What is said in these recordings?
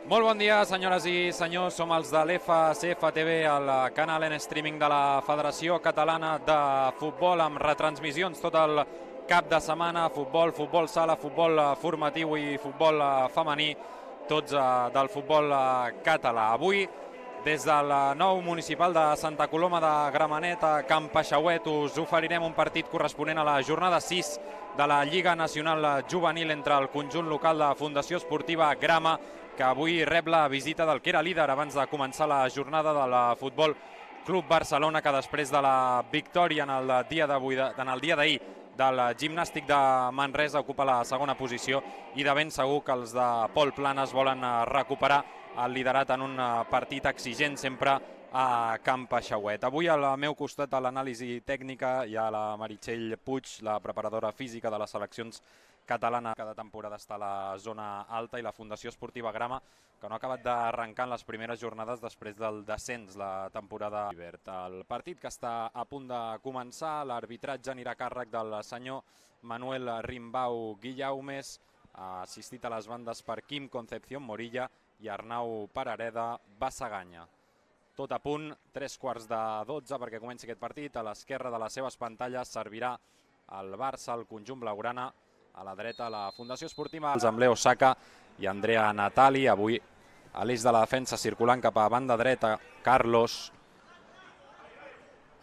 Molt bon dia, senyores i senyors. Som els de l'FCF TV, el canal en streaming de la Federació Catalana de Futbol, amb retransmissions tot el cap de setmana, futbol sala, futbol formatiu i futbol femení, tots del futbol català. Avui, des del nou municipal de Santa Coloma de Gramenet a Can Paixauet, us oferirem un partit corresponent a la jornada 6 de la Lliga Nacional Juvenil entre el conjunt local de Fundació Esportiva Grama, que avui rep la visita del que era líder abans de començar la jornada del Futbol Club Barcelona, que després de la victòria en el dia d'ahir del Gimnàstic de Manresa ocupa la segona posició, i de ben segur que els de Pol Planes volen recuperar el liderat en un partit exigent sempre a Can Paixauet. Avui al meu costat a l'anàlisi tècnica hi ha la Meritxell Puig, la preparadora física de les seleccions catalana. Cada temporada està a la zona alta, i la Fundació Esportiva Grama, que no ha acabat d'arrencar en les primeres jornades després del descens la temporada. El partit que està a punt de començar, l'arbitratge anirà a càrrec del senyor Manuel Rimbau Guillaumes, assistit a les bandes per Quim Concepción Morilla i Arnau Parareda Bassaganya. Tot a punt, 3:15 perquè comenci aquest partit. A l'esquerra de les seves pantalles servirà el Barça, el conjunt blaugrana. A la dreta, la Fundació Esportiva, amb Leo Saka i Andrea Natali. Avui a l'eix de la defensa, circulant cap a banda dreta, Carlos,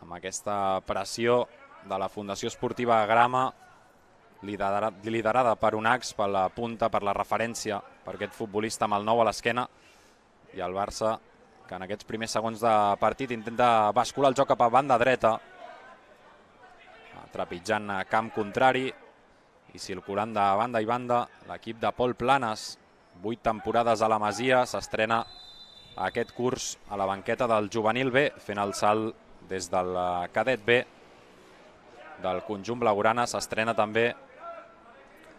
amb aquesta pressió de la Fundació Esportiva Grama, liderada per Unax, per la punta, per la referència, per aquest futbolista amb el 9 a l'esquena. I el Barça, que en aquests primers segons de partit intenta bascular el joc cap a banda dreta, trepitjant camp contrari i circulant de banda i banda. L'equip de Pol Planes, 8 temporades a la Masia, s'estrena aquest curs a la banqueta del Juvenil B, fent el salt des del cadet B del conjunt blaugrana. S'estrena també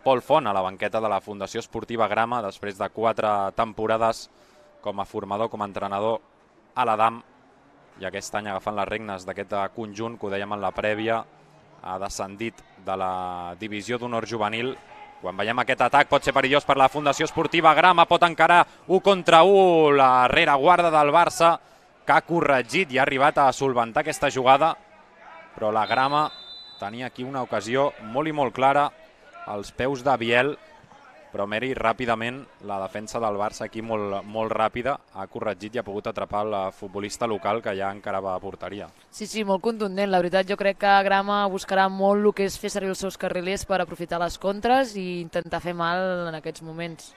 Pol Font a la banqueta de la Fundació Esportiva Grama, després de 4 temporades com a formador, com a entrenador a l'Adam, i aquest any agafant les regnes d'aquest conjunt que, ho dèiem en la prèvia, ha descendit de la divisió d'honor juvenil. Quan veiem aquest atac pot ser perillós per la Fundació Esportiva Grama, pot encarar 1 contra 1 la rereguarda del Barça, que ha corregit i ha arribat a solventar aquesta jugada, però la Grama tenia aquí una ocasió molt i molt clara als peus de Biel, però Meri ràpidament, la defensa del Barça aquí molt ràpida, ha corregit i ha pogut atrapar el futbolista local, que ja encarava a porteria. Sí, molt contundent. La veritat, jo crec que Grama buscarà molt el que és fer servir els seus carrilers per aprofitar les contres i intentar fer mal en aquests moments.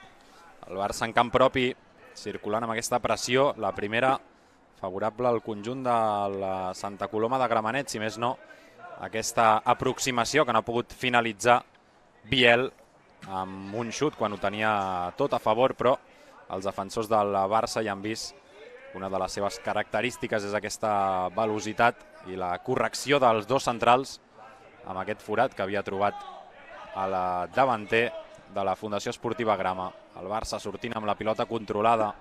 El Barça en camp propi, circulant amb aquesta pressió, la primera favorable al conjunt de la Santa Coloma de Gramenet, si més no, aquesta aproximació que no ha pogut finalitzar Biel amb un xut quan ho tenia tot a favor, però els defensors del Barça ja han vist una de les seves característiques és aquesta velocitat i la correcció dels dos centrals amb aquest forat que havia trobat a la davanter de la Fundació Esportiva Grama. El Barça sortint amb la pilota controlada,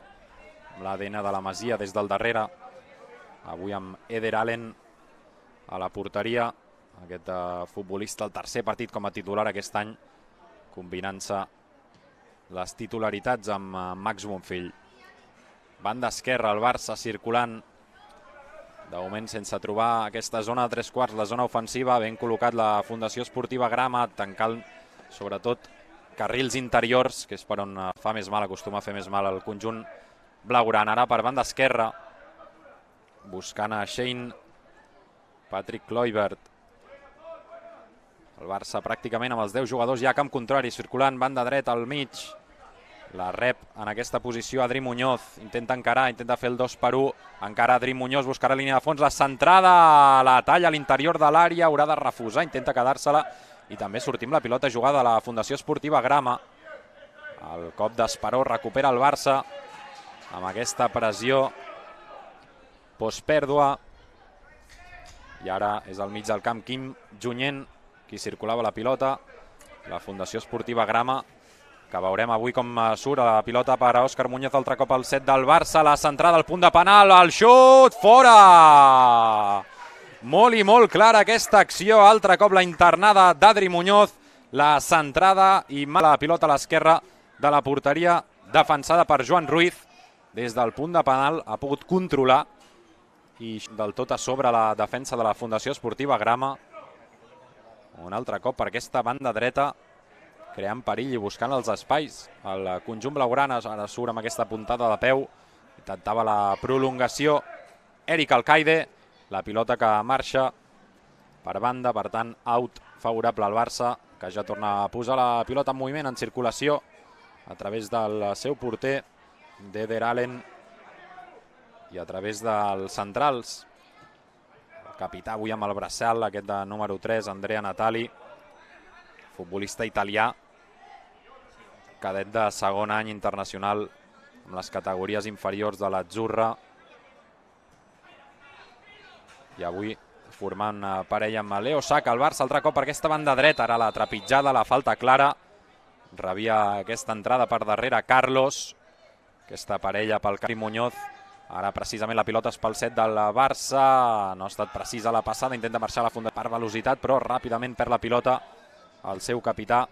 amb l'ADN de la Masia des del darrere, avui amb Eder Allen a la porteria, aquest futbolista, el tercer partit com a titular aquest any, combinant-se les titularitats amb Max Bonfill. Banda esquerra, el Barça circulant, de moment sense trobar aquesta zona de 3/4, la zona ofensiva, ben col·locat la Fundació Esportiva Grama, tancant sobretot carrils interiors, que és per on fa més mal, acostuma a fer més mal el conjunt blaugrana. Ara per banda esquerra, buscant a Shane Patrick Kluivert. El Barça pràcticament amb els 10 jugadors ja a camp contrari, circulant banda dreta al mig. La rep en aquesta posició Adri Muñoz, intenta encarar, intenta fer el 2-1, encara Adri Muñoz, buscarà línia de fons, la centrada, la talla a l'interior de l'àrea, haurà de refusar, intenta quedar-se-la, i també sortim la pilota jugada a la Fundació Esportiva Grama. El cop d'Esperó recupera el Barça amb aquesta pressió postpèrdua, i ara és al mig del camp Quim Junyent qui circulava la pilota. La Fundació Esportiva Grama, que veurem avui com surt a la pilota per a Òscar Muñoz, altre cop al set del Barça, la centrada al punt de penal, el xut, fora! Molt i molt clara aquesta acció, altre cop la internada d'Adri Muñoz, la centrada i mala pilota a l'esquerra de la porteria defensada per Joan Ruiz. Des del punt de penal ha pogut controlar i del tot a sobre la defensa de la Fundació Esportiva Grama. Un altre cop per aquesta banda dreta, creant perill i buscant els espais. El conjunt blaugrana ara surt amb aquesta puntada de peu. Intentava la prolongació Eric Alcaide, la pilota que marxa per banda, per tant, out favorable al Barça, que ja torna a posar la pilota en moviment, en circulació, a través del seu porter, d'Eder Allen, i a través dels centrals. El capità avui amb el braçal, aquest de número 3, Andrea Natali, futbolista italià, cadet de segon any internacional amb les categories inferiors de l'Azzurra, i avui formant parella amb Leo Saka. El Barça altre cop per aquesta banda dreta, ara la trepitjada, la falta clara, rebia aquesta entrada per darrere Carlos, aquesta parella pel Cari Muñoz. Ara precisament la pilota és pel set del Barça, no ha estat precisa la passada, intenta marxar a la funda per velocitat, però ràpidament perd la pilota el seu capità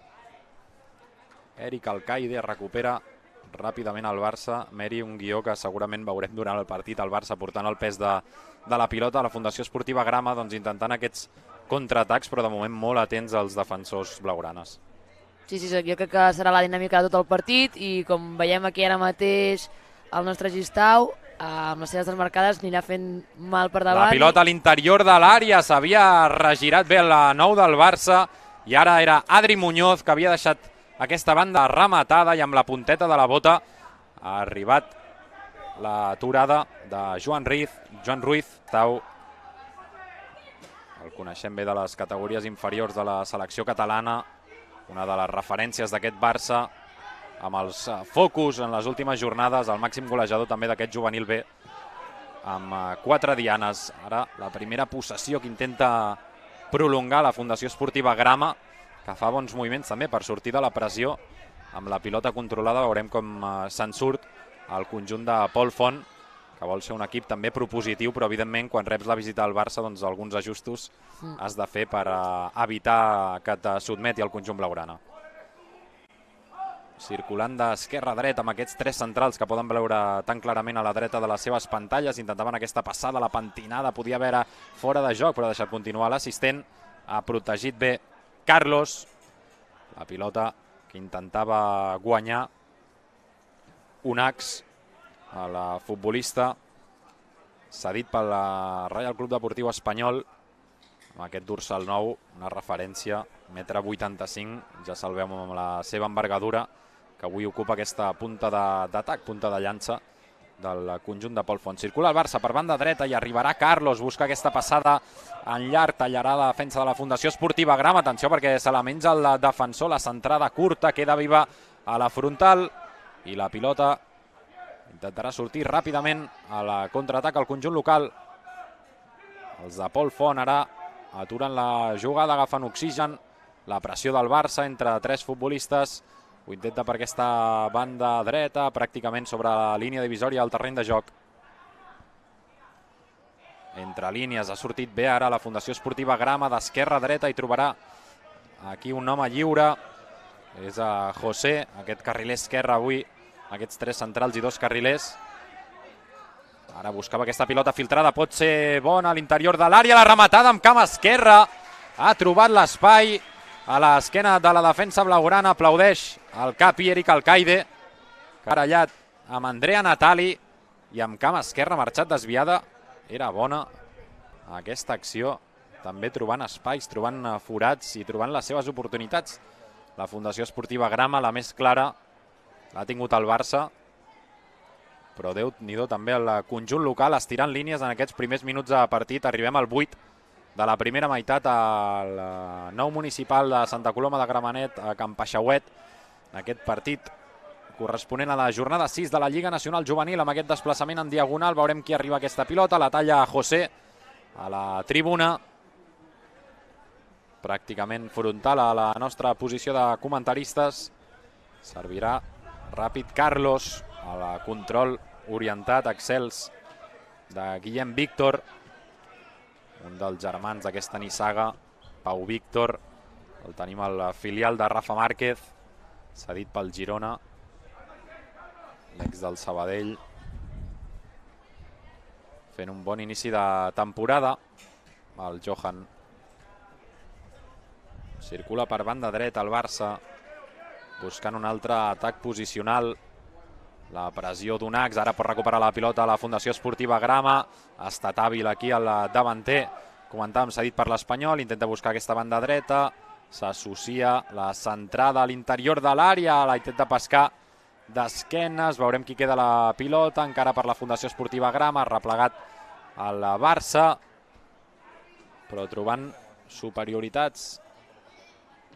Eric Alcaide. Recupera ràpidament el Barça. Meri, un guió que segurament veurem durant el partit, el Barça portant el pes de la pilota, la Fundació Esportiva Grama doncs intentant aquests contraatacs, però de moment molt atents als defensors blaugranes. Sí, jo crec que serà la dinàmica de tot el partit, i com veiem aquí ara mateix el nostre Gistau, amb les seves desmarcades anirà fent mal per davant. La pilota a l'interior de l'àrea, s'havia regirat bé la 9 del Barça, i ara era Adri Muñoz, que havia deixat aquesta banda rematada, i amb la punteta de la bota ha arribat l'aturada de Joan Ruiz. El coneixem bé de les categories inferiors de la selecció catalana, una de les referències d'aquest Barça, amb els focus en les últimes jornades, el màxim golejador també d'aquest juvenil B, amb 4 dianes. Ara la primera possessió que intenta prolongar la Fundació Esportiva Grama, que fa bons moviments també per sortir de la pressió. Amb la pilota controlada veurem com se'n surt el conjunt de Pol Font, que vol ser un equip també propositiu, però evidentment quan reps la visita al Barça doncs alguns ajustos has de fer per evitar que et sotmeti el conjunt blaugrana. Circulant d'esquerra a dreta amb aquests 3 centrals que poden veure tan clarament a la dreta de les seves pantalles. Intentaven aquesta passada, la pentinada, podia haver fora de joc, però ha deixat continuar l'assistent. Ha protegit bé Carlos. La pilota que intentava guanyar Unax, el futbolista cedit pel Reial Club Deportiu Espanyol, amb aquest dorsal nou, una referència, 1,85 m, ja se'l veu amb la seva envergadura, que avui ocupa aquesta punta d'atac, punta de llança del conjunt de Pol Font. Circula el Barça per banda dreta i arribarà Carlos, busca aquesta passada en llarg, tallarà la defensa de la Fundació Esportiva Grama. Atenció perquè se la menja el defensor, la centrada curta, queda viva a la frontal, i la pilota intentarà sortir ràpidament a la contraatac al conjunt local. Els de Pol Font ara aturen la jugada, agafen oxigen, la pressió del Barça entre 3 futbolistes. Ho intenta per aquesta banda dreta, pràcticament sobre la línia divisòria del terreny de joc. Entre línies ha sortit bé ara la Fundació Esportiva Grama, d'esquerra a dreta, i trobarà aquí un home lliure. És a José, aquest carriler esquerre avui, aquests 3 centrals i 2 carrilers. Ara buscava aquesta pilota filtrada, pot ser bona a l'interior de l'àrea, la rematada amb cama esquerra. Ha trobat l'espai a l'esquena de la defensa blaugrana, aplaudeix el capi Eric Alcaide, carallat amb Andrea Natali, i amb cama esquerra marxat desviada. Era bona aquesta acció, també trobant espais, trobant forats i trobant les seves oportunitats. La Fundació Esportiva Grama, la més clara, l'ha tingut el Barça, però Déu-n'hi-do també el conjunt local estirant línies en aquests primers minuts de partit. Arribem al 8 de la primera meitat al nou municipal de Santa Coloma de Gramenet, a Can Paixauet, en aquest partit corresponent a la jornada 6 de la Lliga Nacional Juvenil. Amb aquest desplaçament en diagonal veurem qui arriba a aquesta pilota, la talla José a la tribuna, pràcticament frontal a la nostra posició de comentaristes. Servirà ràpid Carlos, a la control orientat, excels de Guillem Víctor, un dels germans d'aquesta nissaga, Pau Víctor. El tenim al filial de Rafa Márquez, cedit pel Girona. l'ex del Sabadell, fent un bon inici de temporada. El Johan circula per banda dreta el Barça, buscant un altre atac posicional. La pressió d'Unax, ara pot recuperar la pilota a la Fundació Esportiva Grama. Ha estat hàbil aquí el davanter, comentàvem, cedit per l'Espanyol, intenta buscar aquesta banda dreta, s'associa la centrada a l'interior de l'àrea, la intenta pescar d'esquenes, veurem qui queda la pilota, encara per la Fundació Esportiva Grama, replegat el Barça, però trobant superioritats.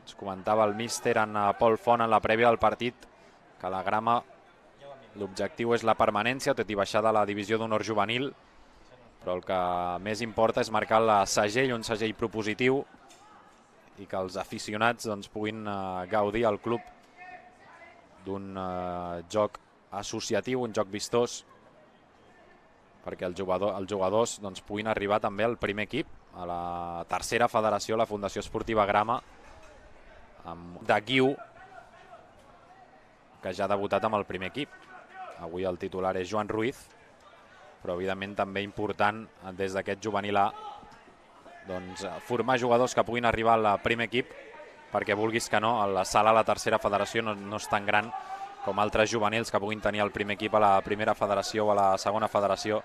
Ens comentava el míster en Pol Font en la prèvia del partit que la Grama l'objectiu és la permanència, tot i baixar de la divisió d'honor juvenil, però el que més importa és marcar el segell, un segell propositiu, i que els aficionats puguin gaudir al club d'un joc associatiu, un joc vistós, perquè els jugadors puguin arribar també al primer equip, a la tercera federació, la Fundació Esportiva Grama, de Guiu, que ja ha debutat amb el primer equip. Avui el titular és Joan Ruiz, però evidentment també important des d'aquest juvenil A formar jugadors que puguin arribar al primer equip, perquè vulguis que no, la sala a la tercera federació no és tan gran com altres juvenils que puguin tenir el primer equip a la primera federació o a la segona federació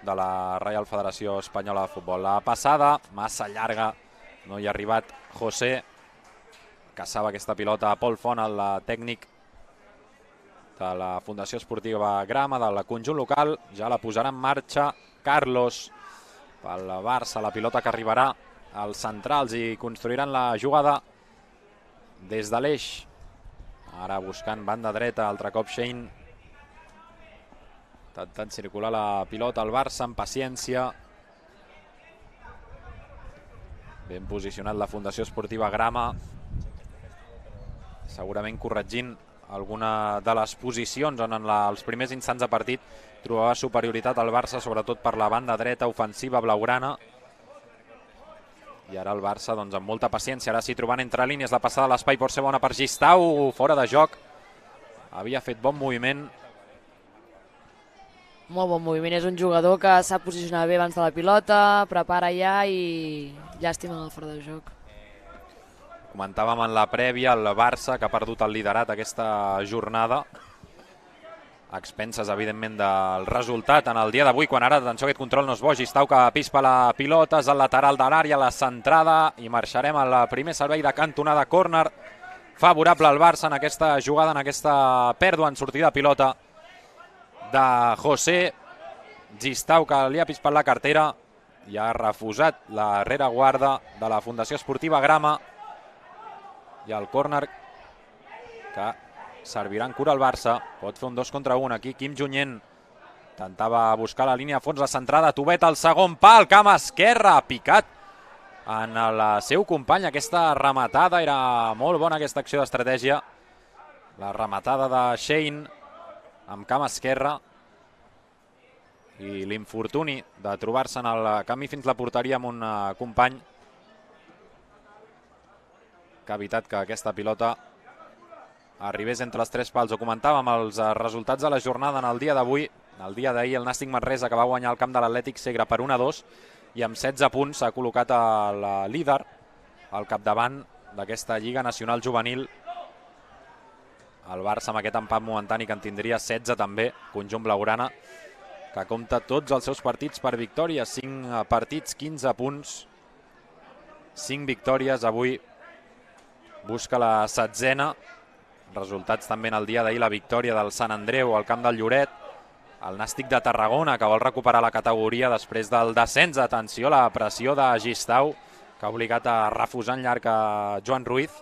de la Reial Federació Espanyola de Futbol. La passada, massa llarga, no hi ha arribat José, caçava aquesta pilota a Pol Font, el tècnic de la Fundació Esportiva Grama, del conjunt local. Ja la posarà en marxa Carlos pel Barça, la pilota que arribarà als centrals i construiran la jugada des de l'eix. Ara buscant banda dreta, altre cop Shane, intentant circular la pilota al Barça amb paciència. Ben posicionat la Fundació Esportiva Grama, segurament corregint alguna de les posicions on en els primers instants de partit trobava superioritat al Barça, sobretot per la banda dreta ofensiva blaugrana. I ara el Barça amb molta paciència, ara sí trobant entre línies la passada a l'espai, pot ser bona per Gistau, fora de joc. Havia fet bon moviment. Molt bon moviment, és un jugador que sap posicionar bé abans de la pilota, prepara ja i llàstima el fora de joc. Comentàvem en la prèvia el Barça, que ha perdut el liderat aquesta jornada, a expenses, evidentment, del resultat en el dia d'avui, quan ara, atenció, aquest control no és bo, Gistau que pispa la pilota, és al lateral de l'àrea, la centrada, i marxarem al primer servei de cantonada, córner favorable al Barça en aquesta jugada, en aquesta pèrdua en sortida de pilota de José. Gistau, que li ha pispat la cartera i ha refusat la rereguarda de la Fundació Esportiva Grama, i el córner que servirà en cura al Barça. Pot fer un 2 contra 1 aquí. Quim Junyent intentava buscar la línia a fons, la centrada, Tubet al segon pal, camp esquerra, picat en el seu company. Aquesta rematada era molt bona, aquesta acció d'estratègia, la rematada de Shane amb camp esquerra, i l'infortuni de trobar-se en el camí fins la porteria amb un company que ha evitat que aquesta pilota arribés entre els tres pals. Ho comentàvem, els resultats de la jornada en el dia d'avui. El dia d'ahir el Nàstic Manresa, que va guanyar el camp de l'Atlètic Segre per 1-2, i amb 16 punts s'ha col·locat el líder al capdavant d'aquesta Lliga Nacional Juvenil. El Barça amb aquest empat momentani, que en tindria 16 també, conjunt blaugrana, que compta tots els seus partits per victòria. 5 partits, 15 punts, 5 victòries. Avui busca la 16ena. Resultats també en el dia d'ahir, la victòria del Sant Andreu al camp del Lloret, el Nàstic de Tarragona, que vol recuperar la categoria després del descens. Atenció, la pressió de Gistau, que ha obligat a refusar en llarg a Joan Ruiz.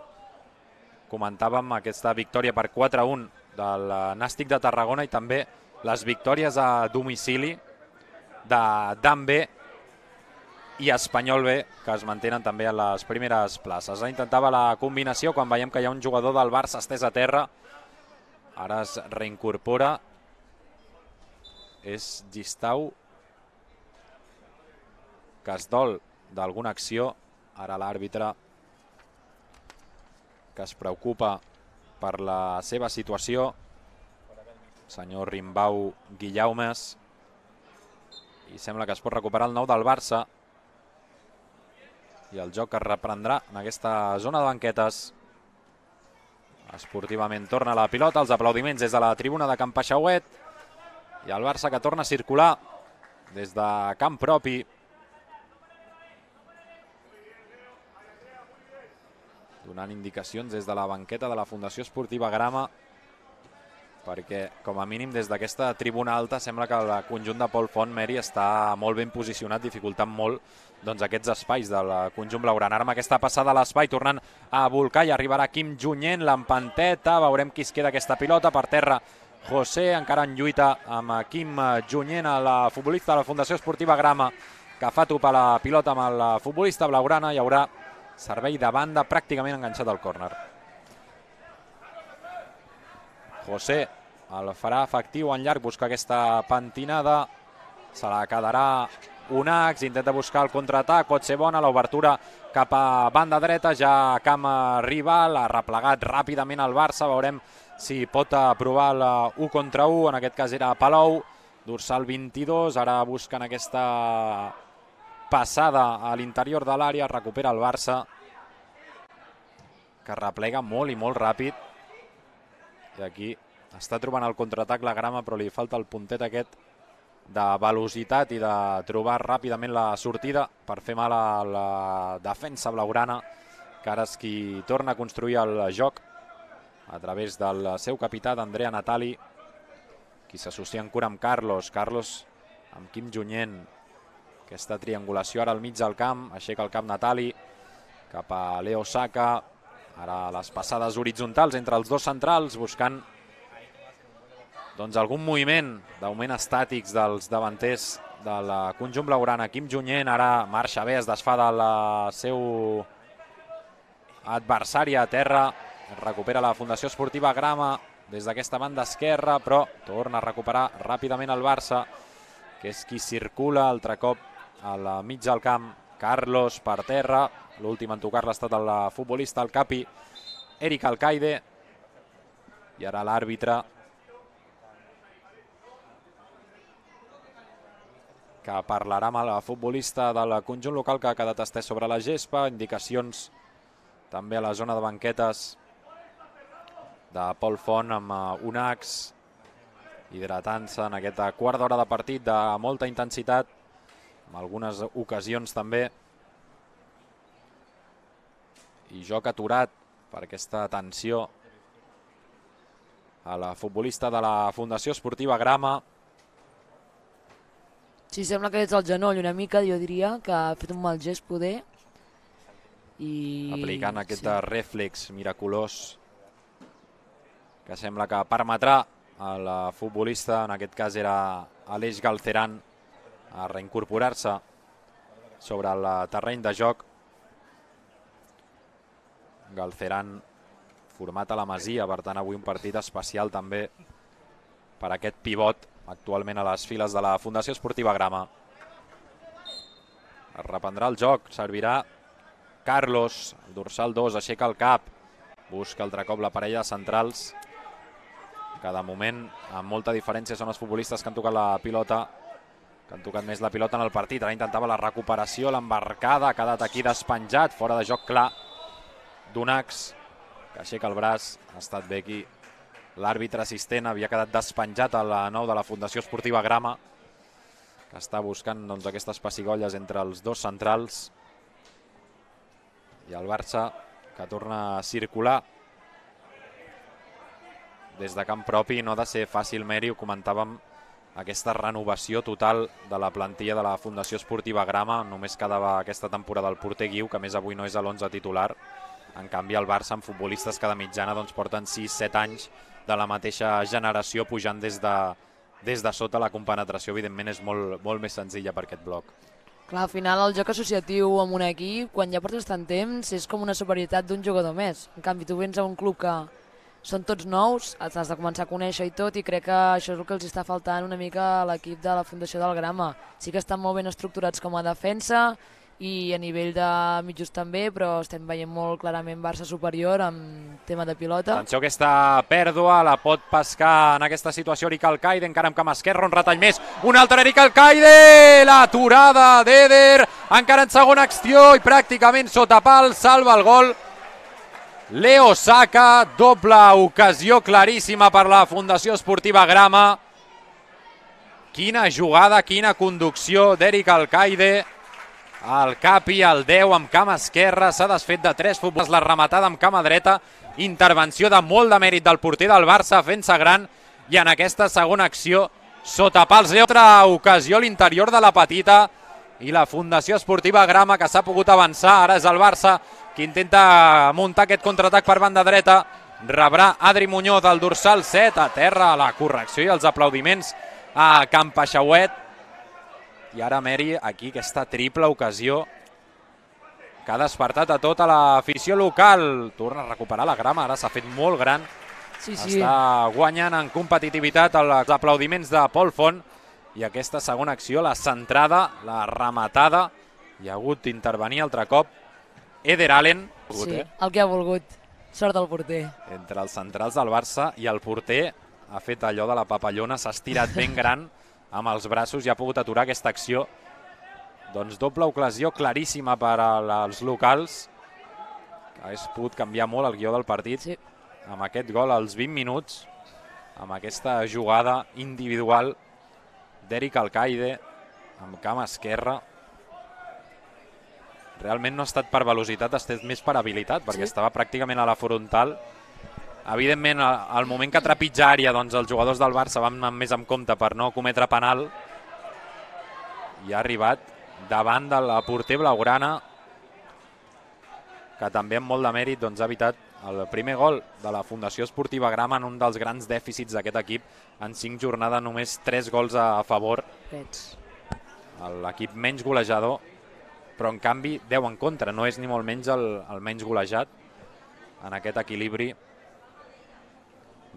Comentàvem aquesta victòria per 4-1 del Nàstic de Tarragona, i també les victòries a domicili de Dan B i Espanyol B, que es mantenen també a les primeres places. Intentava la combinació quan veiem que hi ha un jugador del Barça estès a terra. Ara es reincorpora. És Gistau, que es dol d'alguna acció. Ara l'àrbitre, que es preocupa per la seva situació. senyor Rimbau Guillaumes, i sembla que es pot recuperar el nou del Barça i el joc es reprendrà en aquesta zona de banquetes. Esportivament torna la pilota, els aplaudiments des de la tribuna de Can Paixauet i el Barça que torna a circular des de camp propi. Donant indicacions des de la banqueta de la Fundació Esportiva Grama, perquè com a mínim des d'aquesta tribuna alta sembla que el conjunt de Pol Font, Meri, està molt ben posicionat, dificultant molt aquests espais del conjunt blaugrana. Ara amb aquesta passada a l'espai, tornant a volcar, i arribarà Quim Junyent, l'empanteta, veurem qui es queda aquesta pilota, per terra José, encara en lluita amb Quim Junyent, el futbolista de la Fundació Esportiva Grama, que fa topar la pilota amb el futbolista blaugrana. Hi haurà servei de banda pràcticament enganxat al córner. José el farà efectiu en llarg, busca aquesta pentinada, se la quedarà Unax, intenta buscar el contraatac, pot ser bona l'obertura cap a banda dreta, ja camp rival, ha replegat ràpidament el Barça, veurem si pot provar el 1 contra 1, en aquest cas era Palou, dorsal 22, ara busquen aquesta passada a l'interior de l'àrea, recupera el Barça, que replega molt i molt ràpid, i aquí està trobant el contraatac la Grama, però li falta el puntet aquest de velocitat i de trobar ràpidament la sortida per fer mal a la defensa blaugrana, que ara és qui torna a construir el joc a través del seu capità, d'Andrea Natali, qui s'associa en cura amb Carlos. Carlos amb Quim Junyent, aquesta triangulació ara al mig del camp, aixeca el cap Natali cap a Leo Saka, ara les passades horitzontals entre els dos centrals, buscant algun moviment d'augment estàtics dels davanters del conjunt blaugrana. Quim Junyent ara marxa bé, es desfà del seu adversari a terra, recupera la Fundació Esportiva Grama des d'aquesta banda esquerra, però torna a recuperar ràpidament el Barça, que és qui circula altre cop al mig del camp. Carlos per terra, l'últim en tocar-la ha estat el futbolista, el capi Eric Alcaide, i ara l'àrbitre, que parlarà amb el futbolista del conjunt local que ha quedat estès sobre la gespa. Indicacions també a la zona de banquetes de Pol Font amb Unax, hidratant-se en aquesta quart d'hora de partit de molta intensitat, amb algunes ocasions també, i joc aturat per aquesta tensió a la futbolista de la Fundació Esportiva Grama. Sí, sembla que és el genoll una mica, jo diria, que ha fet un mal gest poder. Aplicant aquest rèflex miraculós que sembla que permetrà al futbolista, en aquest cas era Aleix Galceran, a reincorporar-se sobre el terreny de joc. Galceran format a la Masia, per tant avui un partit especial també per aquest pivot actualment a les files de la Fundació Esportiva Grama. Es reprendrà el joc, servirà Carlos, el dorsal 2, aixeca el cap, busca altre cop la parella de centrals, que de moment amb molta diferència són els futbolistes que han tocat la pilota, que han tocat més la pilota en el partit. Ara intentava la recuperació, l'embarcada, ha quedat aquí despenjat, fora de joc clar d'Unax, que aixeca el braç, ha estat bé aquí. L'àrbitre assistent havia quedat despenjat a la 9 de la Fundació Esportiva Grama, que està buscant aquestes pessigolles entre els dos centrals. I el Barça, que torna a circular des de camp propi. No ha de ser fàcil, Meri, ho comentàvem, aquesta renovació total de la plantilla de la Fundació Esportiva Grama. Només quedava aquesta temporada el porter Guiu, que a més avui no és a l'11 titular. En canvi, el Barça, amb futbolistes que de mitjana porten 6-7 anys de la mateixa generació, pujant des de sota. La compenetració, evidentment, és molt més senzilla per aquest bloc. Clar, al final el joc associatiu amb un equip, quan ja portes tant temps, és com una superioritat d'un jugador més. En canvi, tu vens a un club que són tots nous, has de començar a conèixer i tot, i crec que això és el que els està faltant una mica a l'equip de la Fundació del Grama. Sí que estan molt ben estructurats com a defensa, i a nivell de mitjos també, però estem veient molt clarament Barça superior en tema de pilota. Atenció, aquesta pèrdua la pot pescar en aquesta situació Eric Alcaide, encara amb cama esquerra, un retall més, un altre Eric Alcaide, l'aturada d'Eder, encara en segona acció i pràcticament sota pal, salva el gol Leo Saka, doble ocasió claríssima per la Fundació Esportiva Grama. Quina jugada, quina conducció d'Eric Alcaide. El Capi, el 10 amb cama esquerra, s'ha desfet de 3 futbolistes, la rematada amb cama dreta, intervenció de molt de mèrit del porter del Barça, fent-se gran, i en aquesta segona acció, sota pals, altra ocasió a l'interior de la petita, i la Fundació Esportiva Grama, que s'ha pogut avançar, ara és el Barça qui intenta muntar aquest contraatac per banda dreta, rebrà Adri Muñoz del dorsal 7, a terra, la correcció i els aplaudiments a Campaxauet. I ara Meri, aquí aquesta triple ocasió que ha despertat a tota l'afició local. Torna a recuperar la Grama, ara s'ha fet molt gran. Sí. Està guanyant en competitivitat els aplaudiments de Pol Font. I aquesta segona acció, la centrada, la rematada, hi ha hagut d'intervenir altre cop Eder Allen. Sí, el que ha volgut. Sort del porter. Entre els centrals del Barça i el porter ha fet allò de la papallona, s'ha estirat ben gran amb els braços i ha pogut aturar aquesta acció. Doncs doble ocasió claríssima per als locals, que hagués pogut canviar molt el guió del partit. Sí. Amb aquest gol als 20 minuts, amb aquesta jugada individual d'Eric Alcaide amb cama esquerra. Realment no ha estat per velocitat, ha estat més per habilitat, perquè estava pràcticament a la frontal. Evidentment, al moment que trepitja àrea, doncs els jugadors del Barça van anar més en compte per no cometre penal, i ha arribat davant del porter blaugrana, que també amb molt de mèrit doncs, ha evitat el primer gol de la Fundació Esportiva Grama en un dels grans dèficits d'aquest equip. En 5 jornades només 3 gols a favor. L'equip menys golejador, però en canvi 10 en contra. No és ni molt menys el menys golejat en aquest equilibri.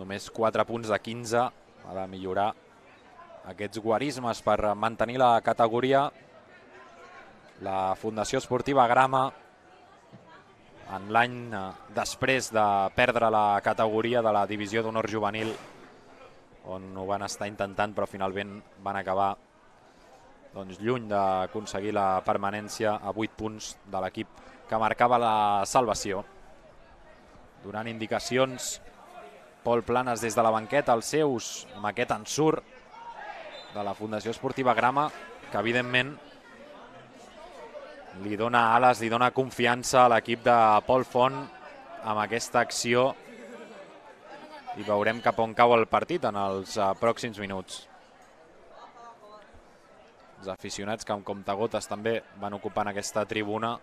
Només 4 punts de 15. Ha de millorar aquests guarismes per mantenir la categoria. La Fundació Esportiva Grama, en l'any després de perdre la categoria de la divisió d'honor juvenil, on ho van estar intentant però finalment van acabar lluny d'aconseguir la permanència a 8 punts de l'equip que marcava la salvació. Donant indicacions Pol Planes des de la banqueta, els seus amb aquest ensurt de la Fundació Esportiva Grama, que evidentment li dona ales, li dona confiança a l'equip de Pol Font amb aquesta acció, i veurem cap on cau el partit en els pròxims minuts. Els aficionats que amb comptagotes també van ocupant aquesta tribuna,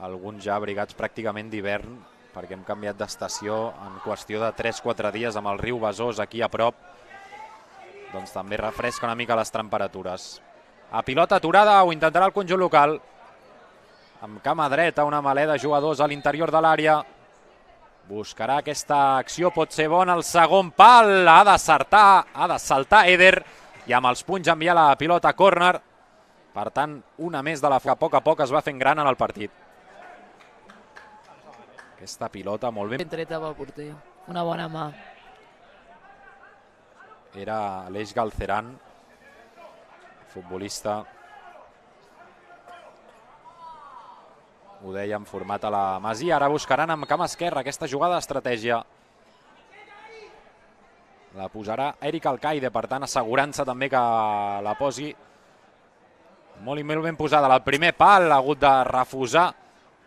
alguns ja abrigats pràcticament d'hivern, perquè hem canviat d'estació en qüestió de 3-4 dies amb el riu Besòs aquí a prop, doncs també refresca una mica les temperatures. A pilota aturada ho intentarà el conjunt local, amb cama dreta, una melé de jugadors a l'interior de l'àrea. Buscarà aquesta acció, pot ser bona, el segon pal, ha de saltar Eder, i amb els punys enviar la pilota a córner. Per tant, una més de la que a poc es va fent gran en el partit. Aquesta pilota molt ben treta pel porter, una bona mà. Era Aleix Galceran, futbolista, ho dèiem, format a la Masia. Ara buscaran amb cama esquerra aquesta jugada d'estratègia. La posarà Eric Alcaide, per tant assegurant-se també que la posi molt i molt ben posada. El primer pal ha hagut de refusar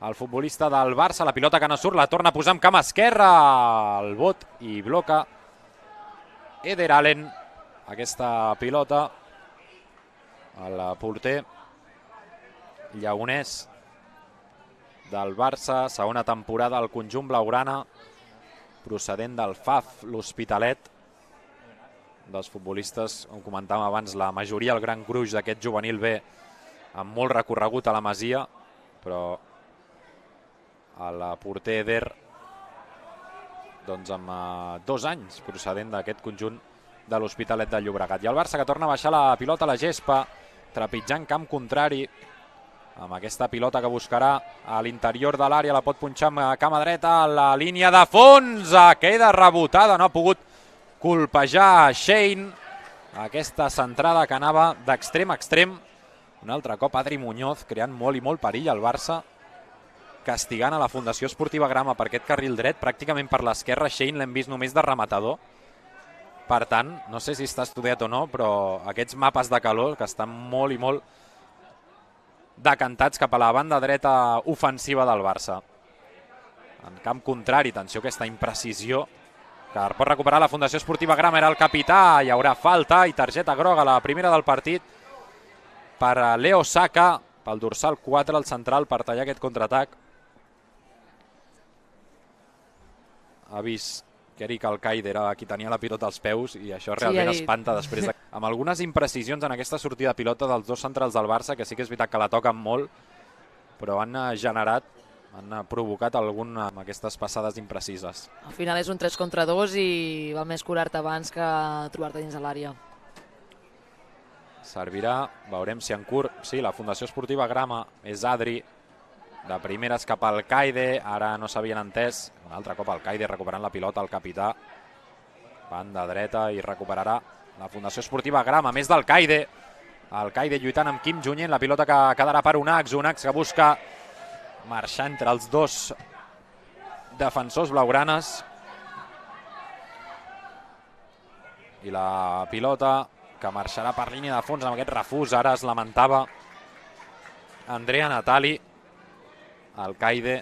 el futbolista del Barça, la pilota que no surt, la torna a posar amb cama esquerra, el bot, i bloca Eder Allen aquesta pilota. El porter lleonès del Barça, segona temporada al conjunt blaugrana, procedent del FAF, l'Hospitalet. Dels futbolistes, com comentàvem abans, la majoria, el gran gruix d'aquest juvenil B, amb molt recorregut a la Masia, però el porter Eder, doncs amb 2 anys procedent d'aquest conjunt de l'Hospitalet de Llobregat. I el Barça que torna a baixar la pilota a la gespa, trepitjant camp contrari, amb aquesta pilota que buscarà a l'interior de l'àrea, la pot punxar amb cama dreta a la línia de fons, queda rebotada, no ha pogut colpejar Shane, aquesta centrada que anava d'extrem a extrem. Un altre cop Adri Muñoz creant molt i molt perill al Barça, castigant a la Fundació Esportiva Grama per aquest carril dret, pràcticament per l'esquerra. Shane l'hem vist només de rematador. Per tant, no sé si està estudiat o no, però aquests mapes de calor que estan molt i molt decantats cap a la banda dreta ofensiva del Barça. En camp contrari, atenció a aquesta imprecisió que pot recuperar la Fundació Esportiva Grama, era el capità, hi haurà falta i targeta groga, la primera del partit per Leo Saka, pel dorsal 4, el central, per tallar aquest contraatac. Ha vist que Eric Alcaide era qui tenia la pilota als peus i això realment espanta després de... Amb algunes imprecisions en aquesta sortida de pilota dels dos centrals del Barça, que sí que és veritat que la toquen molt, però han generat, han provocat algun amb aquestes passades imprecises. Al final és un 3 contra 2 i val més curar-te abans que trobar-te dins de l'àrea. Servirà, veurem si en curt... Sí, la Fundació Esportiva Grama és Adri, de primeres cap al Alcaide, ara no s'havien entès. Un altre cop Alcaide recuperant la pilota, el capità. Banda dreta i recuperarà la Fundació Esportiva Grama, més d'Alcaide. Alcaide lluitant amb Kim Junyent, la pilota que quedarà per Unax que busca marxar entre els dos defensors blaugranes. I la pilota que marxarà per línia de fons amb aquest refús, ara es lamentava Andrea Natali. Alcaide,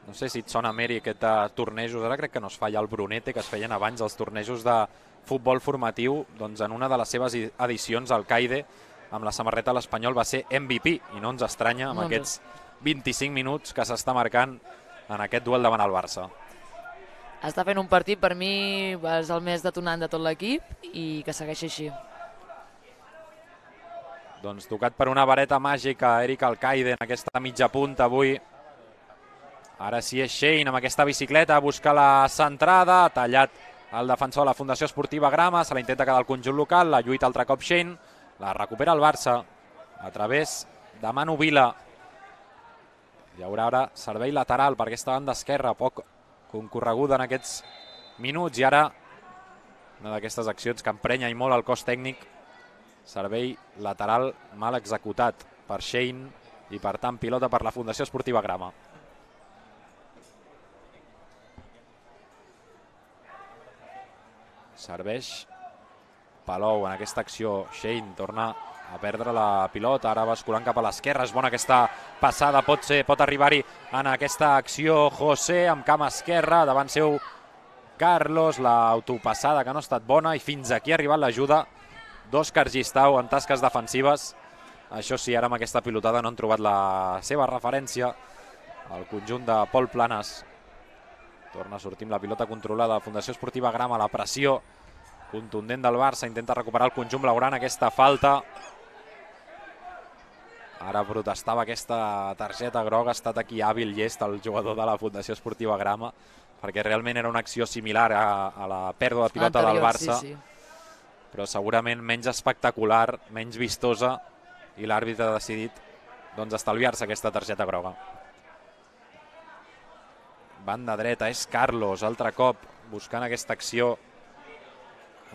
no sé si et sona, Meri, aquest tornejos, ara crec que no es fa ja el Brunete, que es feien abans els tornejos de futbol formatiu, doncs en una de les seves edicions Alcaide amb la samarreta de l'Espanyol va ser MVP i no ens estranya amb aquests 25 minuts que s'està marcant en aquest duel davant el Barça. Està fent un partit, per mi és el més detonant de tot l'equip i que segueixi així. Doncs tocat per una vareta màgica Eric Alcaide en aquesta mitja punta avui. Ara sí és Shane amb aquesta bicicleta, busca la centrada, ha tallat el defensor de la Fundació Esportiva Grama, se la intenta quedar al conjunt local, la lluita altre cop Shane, la recupera el Barça a través de Manu Vila. Hi haurà ara servei lateral per aquesta banda esquerra, poc concorreguda en aquests minuts, i ara una d'aquestes accions que emprenya i molt el cos tècnic, servei lateral mal executat per Shane i per tant pilota per la Fundació Esportiva Grama. Serveix Palou en aquesta acció. Shane torna a perdre la pilota, ara basculant cap a l'esquerra. És bona aquesta passada, pot arribar-hi en aquesta acció José amb cama esquerra, davant seu Carlos, l'autopassada que no ha estat bona i fins aquí ha arribat l'ajuda d'Òscar Gistau en tasques defensives. Això sí, ara amb aquesta pilotada no han trobat la seva referència al conjunt de Pol Planes. Torna a sortir amb la pilota controlada. Fundació Esportiva Grama, la pressió contundent del Barça, intenta recuperar el conjunt blaugrana, aquesta falta. Ara protestava aquesta targeta groga, ha estat aquí hàbil llest el jugador de la Fundació Esportiva Grama, perquè realment era una acció similar a la pèrdua de pilota del Barça, però segurament menys espectacular, menys vistosa, i l'àrbitre ha decidit estalviar-se aquesta targeta groga. Banda dreta és Carlos, altre cop buscant aquesta acció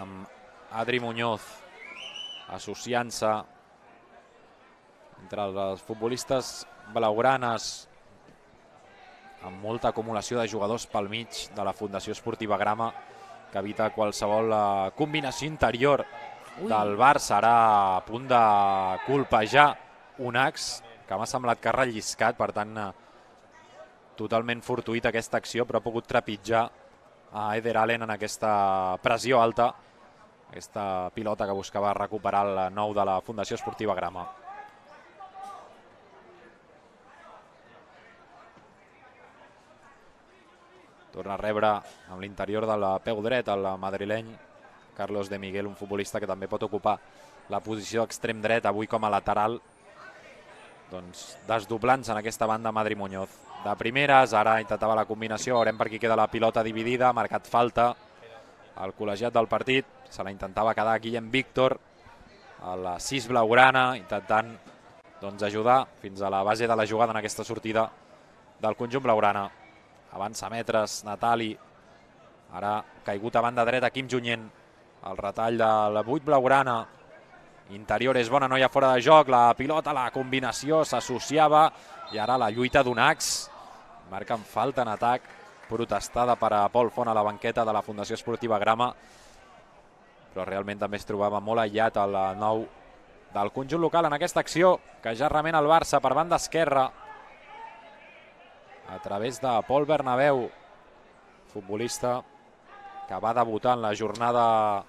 amb Adri Muñoz, associant-se entre els futbolistes blaugranes, amb molta acumulació de jugadors pel mig de la Fundació Esportiva Grama, que evita qualsevol combinació interior del Barça. Ara a punt de colpejar Unax, que m'ha semblat que ha relliscat, per tant totalment fortuïta aquesta acció, però ha pogut trepitjar a Eder Allen en aquesta pressió alta, aquesta pilota que buscava recuperar el nou de la Fundació Esportiva Grama. Torna a rebre amb l'interior del peu dret el madrileny Carlos de Miguel, un futbolista que també pot ocupar la posició extrem dret, avui com a lateral, doncs desdoblant-se en aquesta banda Adri Muñoz. De primeres, ara intentava la combinació, veurem per qui queda la pilota dividida, ha marcat falta el col·legiat del partit, se la intentava quedar Guillem Víctor, a la 6 blaugrana, intentant doncs, ajudar fins a la base de la jugada en aquesta sortida del conjunt blaugrana. Avança metres, Natali. Ara caigut a banda dreta, Quim Junyent. El retall de la 8 blaugrana. Interior és bona, no hi ha fora de joc. La pilota, la combinació s'associava. I ara la lluita d'Unax. Marquen falta en atac, protestada per a Pol Font a la banqueta de la Fundació Esportiva Grama. Però realment també es trobava molt aïllat el nou del conjunt local en aquesta acció, que ja remena el Barça per banda esquerra a través de Pol Bernabéu, futbolista que va debutar en la jornada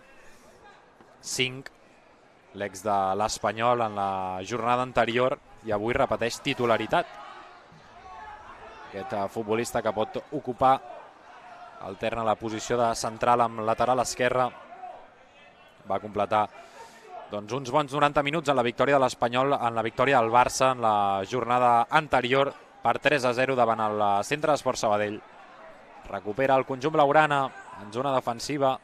5, l'ex de l'Espanyol en la jornada anterior, i avui repeteix titularitat. Aquest futbolista que pot ocupar, alterna la posició de central amb lateral esquerra, va completar doncs, uns bons 90 minuts en la victòria de l'Espanyol, en la victòria del Barça en la jornada anterior per 3-0 davant el Centre d'Esport Sabadell. Recupera el conjunt blaugrana en zona defensiva,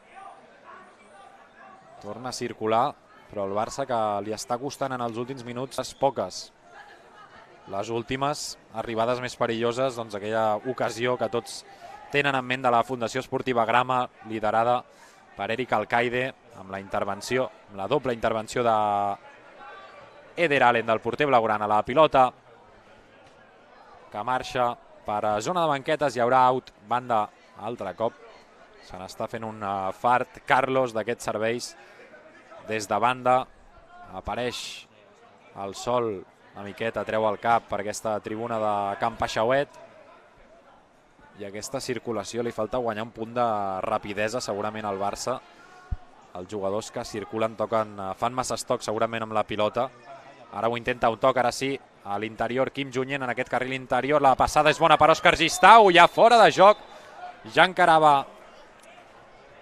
torna a circular, però el Barça que li està costant en els últims minuts poques. Les últimes arribades més perilloses, doncs aquella ocasió que tots tenen en ment de la Fundació Esportiva Grama, liderada per Eric Alcaide, amb la intervenció, amb la doble intervenció de Eder Allen, del porter blaugrana. La pilota que marxa per a zona de banquetes, hi haurà out, banda altre cop. Se n'està fent un fart Carlos d'aquests serveis des de banda. Apareix el sol una miqueta, treu el cap per aquesta tribuna de Can Paixauet, i aquesta circulació li falta guanyar un punt de rapidesa segurament al Barça. Els jugadors que circulen fan massa estoc segurament amb la pilota. Ara ho intenta un toc, ara sí, a l'interior Quim Junyent en aquest carril interior. La passada és bona per Òscar Gistau, ja fora de joc. Ja encarava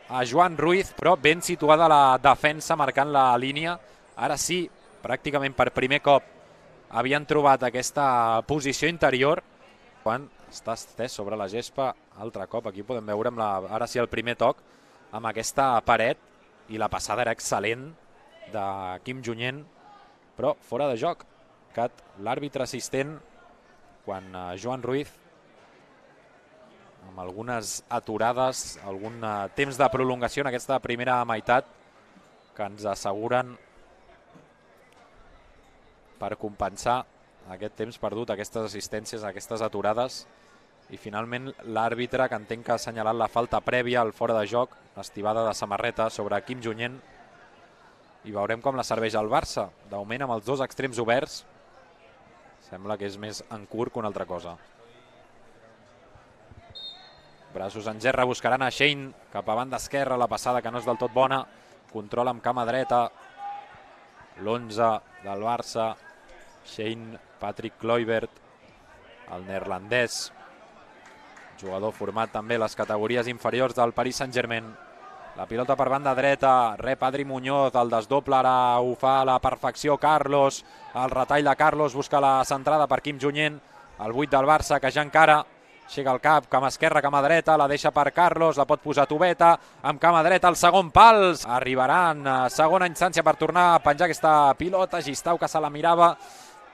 a Joan Ruiz, però ben situada la defensa marcant la línia. Ara sí, pràcticament per primer cop havien trobat aquesta posició interior. Quan està estès sobre la gespa, altre cop, aquí podem veure ara sí el primer toc amb aquesta paret, i la passada era excel·lent de Quim Junyent, però fora de joc. L'àrbitre assistent, quan Joan Ruiz, amb algunes aturades, algun temps de prolongació en aquesta primera meitat, que ens asseguren per compensar aquest temps perdut, aquestes assistències, aquestes aturades, i finalment l'àrbitre, que entenc que ha assenyalat la falta prèvia al fora de joc, l'estivada de samarreta sobre Quim Junyent, i veurem com la serveix el Barça. De moment amb els dos extrems oberts, sembla que és més en curt que una altra cosa. Braços en gerra, buscaran a Shane cap a banda esquerra, la passada que no és del tot bona, control amb cama dreta, l'11 del Barça, Shane Patrick Kluivert, el neerlandès, jugador format també a les categories inferiors del Paris Saint-Germain. La pilota per banda dreta, rep Adri Muñoz, el desdoble ara ho fa a la perfecció Carlos, el retall de Carlos, busca la centrada per Quim Junyent, el 8 del Barça que ja encara, aixeca el cap, cama esquerra, cama dreta, la deixa per Carlos, la pot posar Tubeta, amb cama dreta el segon pal, arribarà en segona instància per tornar a penjar aquesta pilota, Gistau que se la mirava,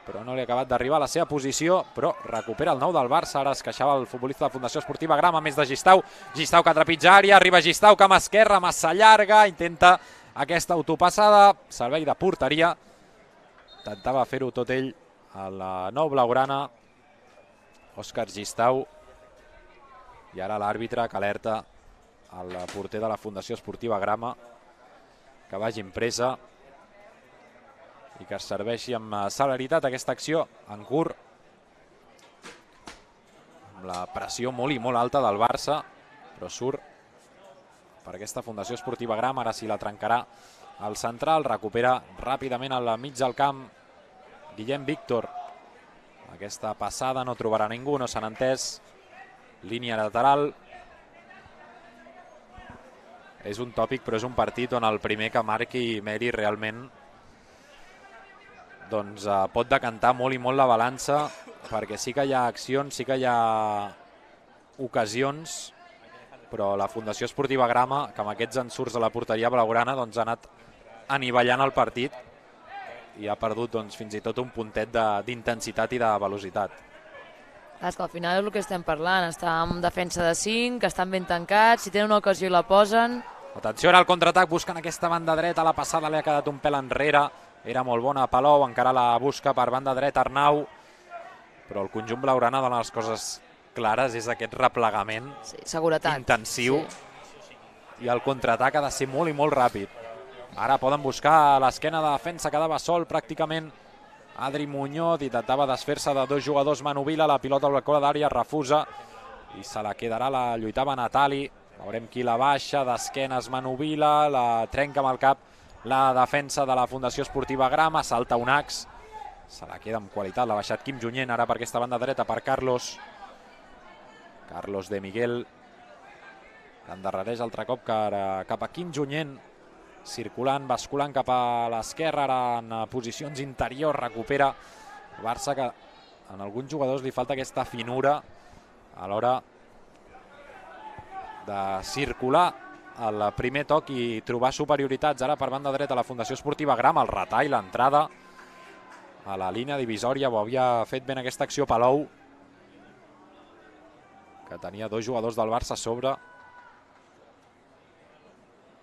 però no li ha acabat d'arribar a la seva posició, però recupera el 9 del Barça. Ara es queixava el futbolista de la Fundació Esportiva Grama, més de Gistau, Gistau que trepitja àrea, arriba Gistau, cama esquerra, massa llarga, intenta aquesta autopassada, servei de porteria, intentava fer-ho tot ell a la nou blaugrana, Òscar Gistau, i ara l'àrbitre que alerta el porter de la Fundació Esportiva Grama que vagi en presa i que es serveixi amb celeritat aquesta acció en curt, amb la pressió molt i molt alta del Barça, però surt per aquesta Fundació Esportiva Grama. Ara sí la trencarà el central, recupera ràpidament al mig del camp Guillem Víctor. Aquesta passada no trobarà ningú, no s'han entès, línia lateral. És un tòpic, però és un partit on el primer que marqui Meri realment doncs pot decantar molt i molt la balança, perquè sí que hi ha accions, sí que hi ha ocasions, però la Fundació Esportiva Grama, que amb aquests ensurts de la porteria blaugrana, doncs ha anat anivellant el partit i ha perdut fins i tot un puntet d'intensitat i de velocitat. És que al final és el que estem parlant, està en defensa de 5, que estan ben tancats, si tenen una ocasió i la posen. Atenció ara al contraatac, buscant aquesta banda dreta, la passada li ha quedat un pèl enrere, era molt bona Palou, encara la busca per banda dreta Arnau, però el conjunt blaugrana dona les coses clares, és aquest replegament intensiu, i el contraatac ha de ser molt i molt ràpid. Ara poden buscar l'esquena de defensa, quedava sol pràcticament Adri Muñoz, intentava desfer-se de dos jugadors, Manu Vila, la pilota al balcó d'àrea, refusa i se la quedarà, la lluitava Natali, veurem qui la baixa, d'esquenes Manu Vila, la trenca amb el cap la defensa de la Fundació Esportiva Grama, salta un ax, se la queda amb qualitat, l'ha baixat Quim Junyent, ara per aquesta banda dreta per Carlos de Miguel, endarrereix altre cop cap a Quim Junyent, circulant, basculant cap a l'esquerra, ara en posicions interiors, recupera el Barça, que en alguns jugadors li falta aquesta finura a l'hora de circular el primer toc i trobar superioritats. Ara per banda dreta la Fundació Esportiva Grama, el retall, l'entrada a la línia divisòria, ho havia fet ben aquesta acció Palou, que tenia dos jugadors del Barça a sobre,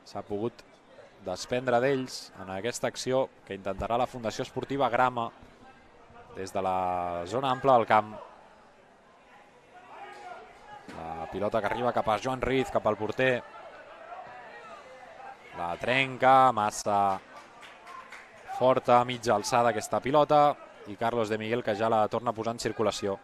s'ha pogut desprendre d'ells en aquesta acció que intentarà la Fundació Esportiva Grama des de la zona ampla del camp. La pilota que arriba cap a Joan Ruiz, cap al porter, la trenca, massa forta, mitja alçada aquesta pilota, i Carlos de Miguel que ja la torna a posar en circulació.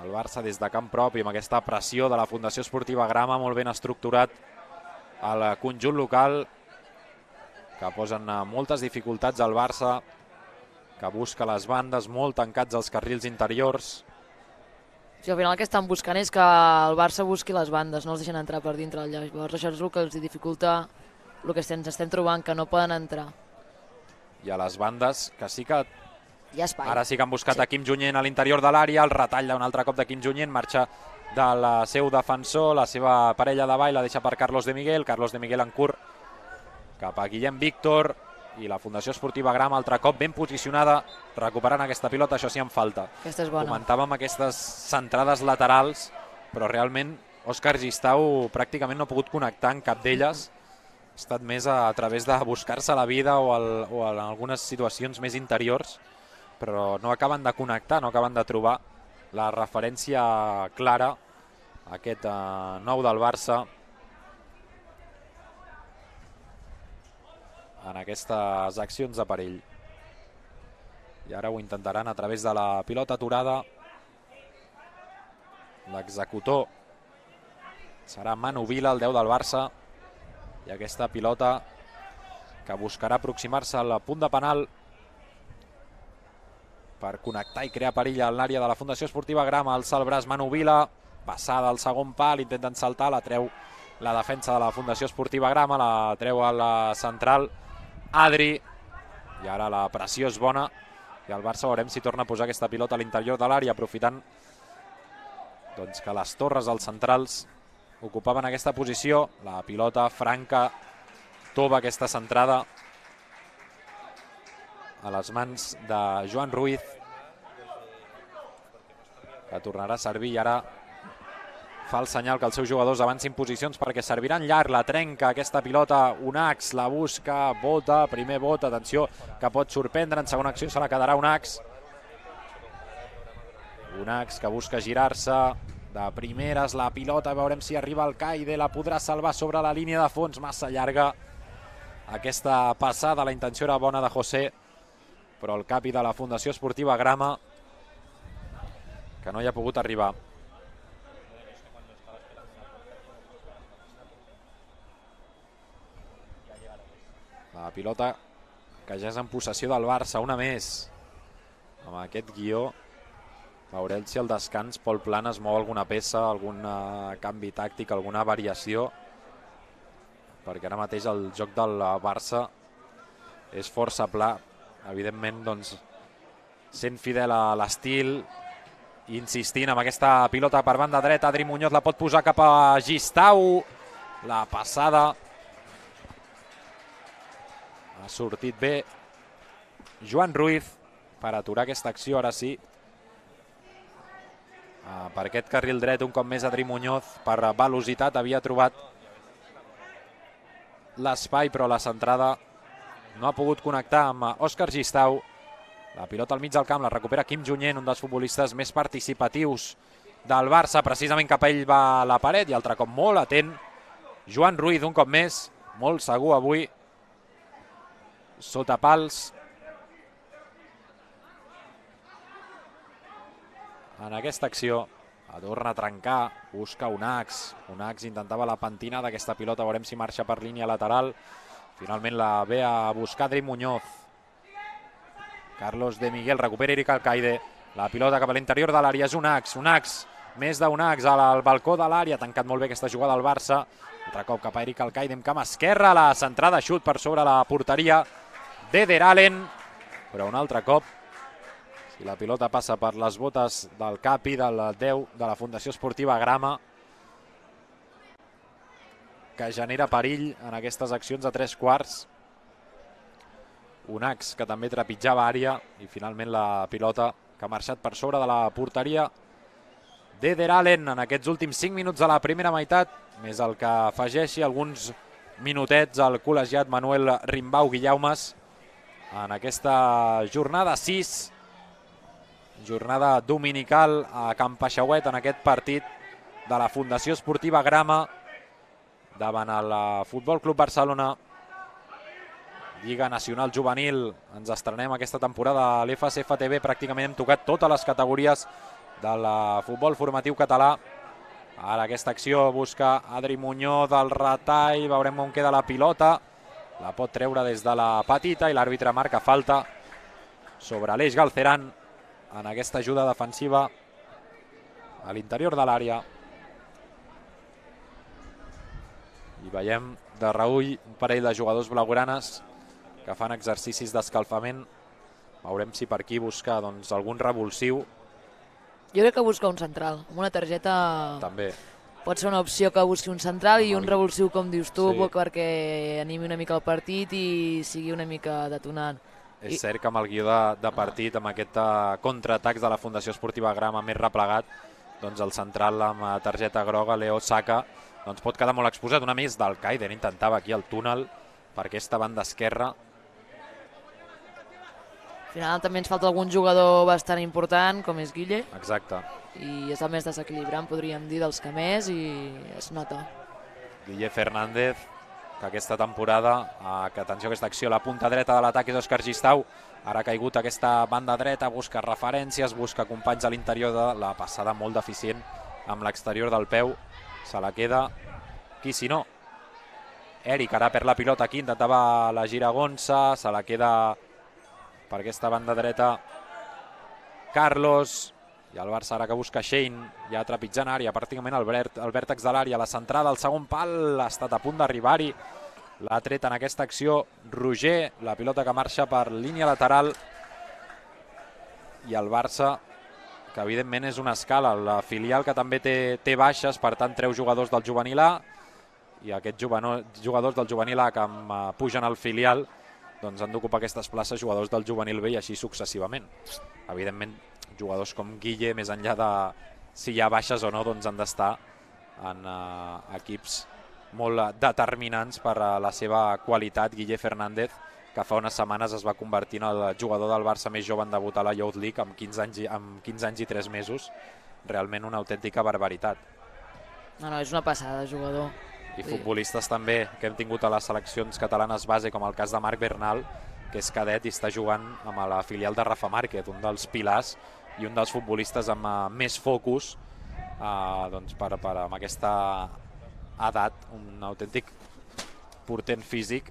El Barça des de camp propi amb aquesta pressió de la Fundació Esportiva Grama, molt ben estructurat el conjunt local, que posen moltes dificultats al Barça, que busca les bandes, molt tancats als carrils interiors. Sí, al final el que estan buscant és que el Barça busqui les bandes, no els deixen entrar per dintre. Llavors això és el que els dificulta el que ens estem trobant, que no poden entrar. I a les bandes, que sí que hi ha espai. Ara sí que han buscat a Quim Junyent a l'interior de l'àrea, el retall d'un altre cop de Quim Junyent, marxa del seu defensor, la seva parella de ball la deixa per Carlos de Miguel en curt cap a Guillem Víctor, i la Fundació Esportiva Grama altre cop ben posicionada, recuperant aquesta pilota, això sí en falta. Aquesta és bona. Comentàvem aquestes centrades laterals, però realment Òscar Gistau pràcticament no ha pogut connectar en cap d'elles, ha estat més a través de buscar-se la vida o en algunes situacions més interiors, però no acaben de connectar, no acaben de trobar la referència clara a aquest nou del Barça en aquestes accions de perill. I ara ho intentaran a través de la pilota aturada. L'executor serà Manu Vila, el 10 del Barça, i aquesta pilota que buscarà aproximar-se al punt de penal per connectar i crear perill a l'àrea de la Fundació Esportiva Grama. Alça el braç Manu Vila, passada al segon pal, intenten saltar, la treu la defensa de la Fundació Esportiva Grama, la treu a la central Adri, i ara la pressió és bona i el Barça veurem si torna a posar aquesta pilota a l'interior de l'àrea, aprofitant que les torres als centrals ocupaven aquesta posició. La pilota franca tova aquesta centrada a les mans de Joan Ruiz, que tornarà a servir, i ara fa el senyal que els seus jugadors avancin posicions perquè serviran llarg, la trenca aquesta pilota, Unax la busca, bota, primer bota, atenció, que pot sorprendre, en segona acció se la quedarà Unax que busca girar-se de primeres, la pilota, veurem si arriba al Caide, la podrà salvar sobre la línia de fons, massa llarga aquesta passada, la intenció era bona de José, però el capi de la Fundació Esportiva Grama que no hi ha pogut arribar. La pilota que ja és en possessió del Barça, una més. Amb aquest guió veurem si al descans Pol Plana es mou alguna peça, algun canvi tàctic, alguna variació, perquè ara mateix el joc del Barça és força pla. Evidentment, sent fidel a l'estil, insistint amb aquesta pilota per banda dreta. Adri Muñoz la pot posar cap a Gistau, la passada Ha sortit bé Joan Ruiz per aturar aquesta acció, ara sí. Per aquest carril dret, un cop més Adri Muñoz, per velocitat, havia trobat l'espai, però la centrada no ha pogut connectar amb Òscar Gistau. La pilota al mig del camp la recupera Quim Junyent, un dels futbolistes més participatius del Barça. Precisament cap a ell va la paret i altre cop molt atent Joan Ruiz, un cop més, molt segur avui, sota pals. En aquesta acció torna a trencar, busca Unax. Unax intentava la pentina d'aquesta pilota, veurem si marxa per línia lateral. Finalment la ve a buscar Adri Muñoz. Carlos de Miguel recupera Eric Alcaide. La pilota cap a l'interior de l'àrea és Unax. Unax, més d'Unax al balcó de l'àrea. Ha tancat molt bé aquesta jugada al Barça. Altre cop cap a Eric Alcaide amb camp esquerra. La centrada, xut per sobre la porteria d'Eder Allen. Però un altre cop, si la pilota passa per les botes del capi, del 10 de la Fundació Esportiva Grama, que genera perill en aquestes accions a 3/4. Unax, que també trepitjava àrea, i finalment la pilota que ha marxat per sobre de la porteria d'Eder Allen en aquests últims 5 minuts de la primera meitat, més el que afegeixi alguns minutets al col·legiat Manuel Rimbau Guillaumes en aquesta jornada 6, jornada dominical a Can Paixauet, en aquest partit de la Fundació Esportiva Grama davant el Futbol Club Barcelona. Lliga Nacional Juvenil, ens estrenem aquesta temporada a l'FCFTV, pràcticament hem tocat totes les categories del futbol formatiu català. Ara aquesta acció busca Adri Muñoz del retall, veurem on queda la pilota, la pot treure des de la petita i l'àrbitre marca falta sobre Aleix Galceran en aquesta ajuda defensiva a l'interior de l'àrea. I veiem de reull un parell de jugadors blaugranes que fan exercicis d'escalfament. Veurem si per aquí busca algun revulsiu. Jo crec que busca un central. Amb una targeta també pot ser una opció que busqui un central i un revulsiu, com dius tu, sí, perquè animi una mica el partit i sigui una mica detonant. És cert que amb el guió de partit, amb aquest contraatacs de la Fundació Esportiva Grama més replegat, doncs el central amb targeta groga, Leo Saka, doncs pot quedar molt exposat. Una més d'Alcaide, intentava aquí el túnel per aquesta banda esquerra. Al final també ens falta algun jugador bastant important, com és Guille. Exacte. I és el més desequilibrant, podríem dir, dels que més, i es nota. Guille Fernández, que aquesta temporada, que atenció a aquesta acció, la punta dreta de l'atac és Òscar Gistau, ara ha caigut aquesta banda dreta, busca referències, busca companys a l'interior de la passada, molt deficient amb l'exterior del peu, se la queda qui si no. Eric ara perd la pilota aquí, intentava la giragonsa, se la queda per aquesta banda dreta Carlos, i el Barça ara que busca Shane, ja trepitjant àrea, pràcticament al vèrtex de l'àrea, la centrada, el segon pal, ha estat a punt d'arribar-hi, l'ha tret en aquesta acció Roger, la pilota que marxa per línia lateral, i el Barça, que evidentment és una escala, la filial que també té baixes, per tant treu jugadors del juvenil A, i aquests jugadors del juvenil A que pugen al filial, doncs han d'ocupar aquestes places jugadors del juvenil B i així successivament. Evidentment, jugadors com Guille, més enllà de si hi ha baixes o no, doncs han d'estar en equips molt determinants per la seva qualitat. Guille Fernández, que fa unes setmanes es va convertir en el jugador del Barça més jove en debutar a la Youth League amb 15 anys i 3 mesos. Realment una autèntica barbaritat. No, és una passada de jugador. I futbolistes també que hem tingut a les seleccions catalanes base, com el cas de Marc Bernal, que és cadet i està jugant amb la filial de Rafa Márquez, un dels pilars i un dels futbolistes amb més focus amb aquesta edat, un autèntic portent físic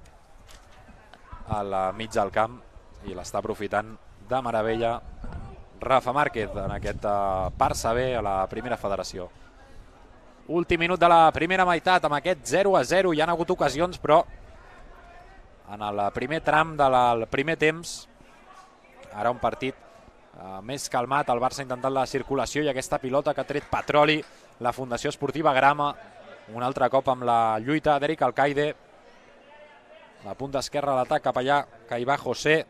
al mig del camp, i l'està aprofitant de meravella Rafa Márquez en aquest Barça B a la primera federació. Últim minut de la primera meitat, amb aquest 0-0, hi ha hagut ocasions, però en el primer tram del primer temps, ara un partit més calmat, el Barça ha intentat la circulació i aquesta pilota que ha tret petroli la Fundació Esportiva Grama, un altre cop amb la lluita d'Eric Alcaide, La punta esquerra a l'atac, cap allà, que hi va José.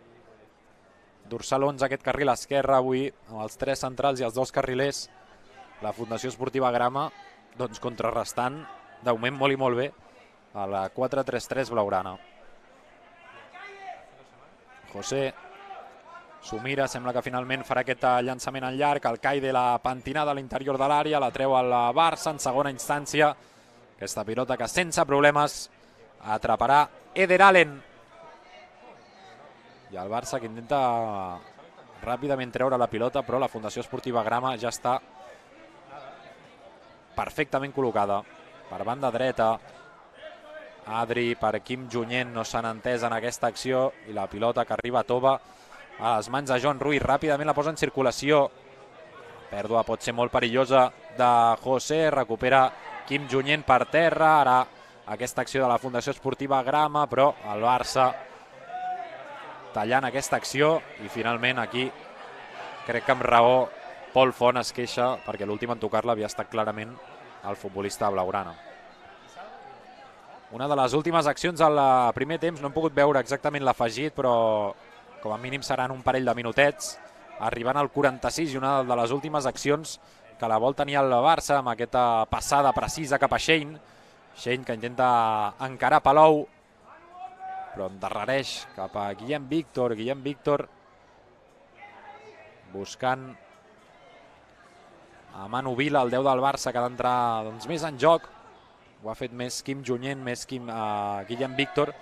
Dorsal 11, aquest carril esquerre avui, amb els 3 centrals i els 2 carrilers. La Fundació Esportiva Grama, doncs contrarrestant, de moment molt i molt bé, a la 4-3-3 blaugrana. José s'ho mira, sembla que finalment farà aquest llançament en llarg, el Caide la pentinada a l'interior de l'àrea, la treu al Barça en segona instància. Aquesta pilota que sense problemes atraparà Eder Allen. I el Barça que intenta ràpidament treure la pilota, però la Fundació Esportiva Grama ja està perfectament col·locada. Per banda dreta, Adri per Quim Junyent, no s'han entès en aquesta acció, i la pilota que arriba a Tova a les mans de Joan Ruiz, ràpidament la posa en circulació. Pèrdua pot ser molt perillosa de José, recupera Quim Junyent per terra, ara aquesta acció de la Fundació Esportiva Grama, però el Barça tallant aquesta acció, i finalment aquí crec que amb raó Pol Font es queixa perquè l'últim en tocar-la havia estat clarament el futbolista blaugrana. Una de les últimes accions al primer temps, no hem pogut veure exactament l'afegit, però com a mínim seran un parell de minutets, arribant al 46, i una de les últimes accions que la vol tenir el Barça amb aquesta passada precisa cap a Shein. Shein que intenta encarar Palou, però endarrereix cap a Guillem Víctor. Guillem Víctor buscant a Manu Vila, el 10 del Barça, que ha d'entrar més en joc. Ho ha fet més Quim Junyent, més Guillem Víctor,